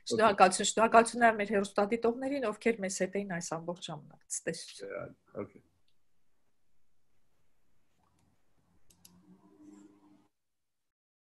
A: Շնորհակալություն մեր հեռուստադիտողներին, ովքեր մեզ հետ էին այս ամբողջ ժամանակ։ Ցտեսություն։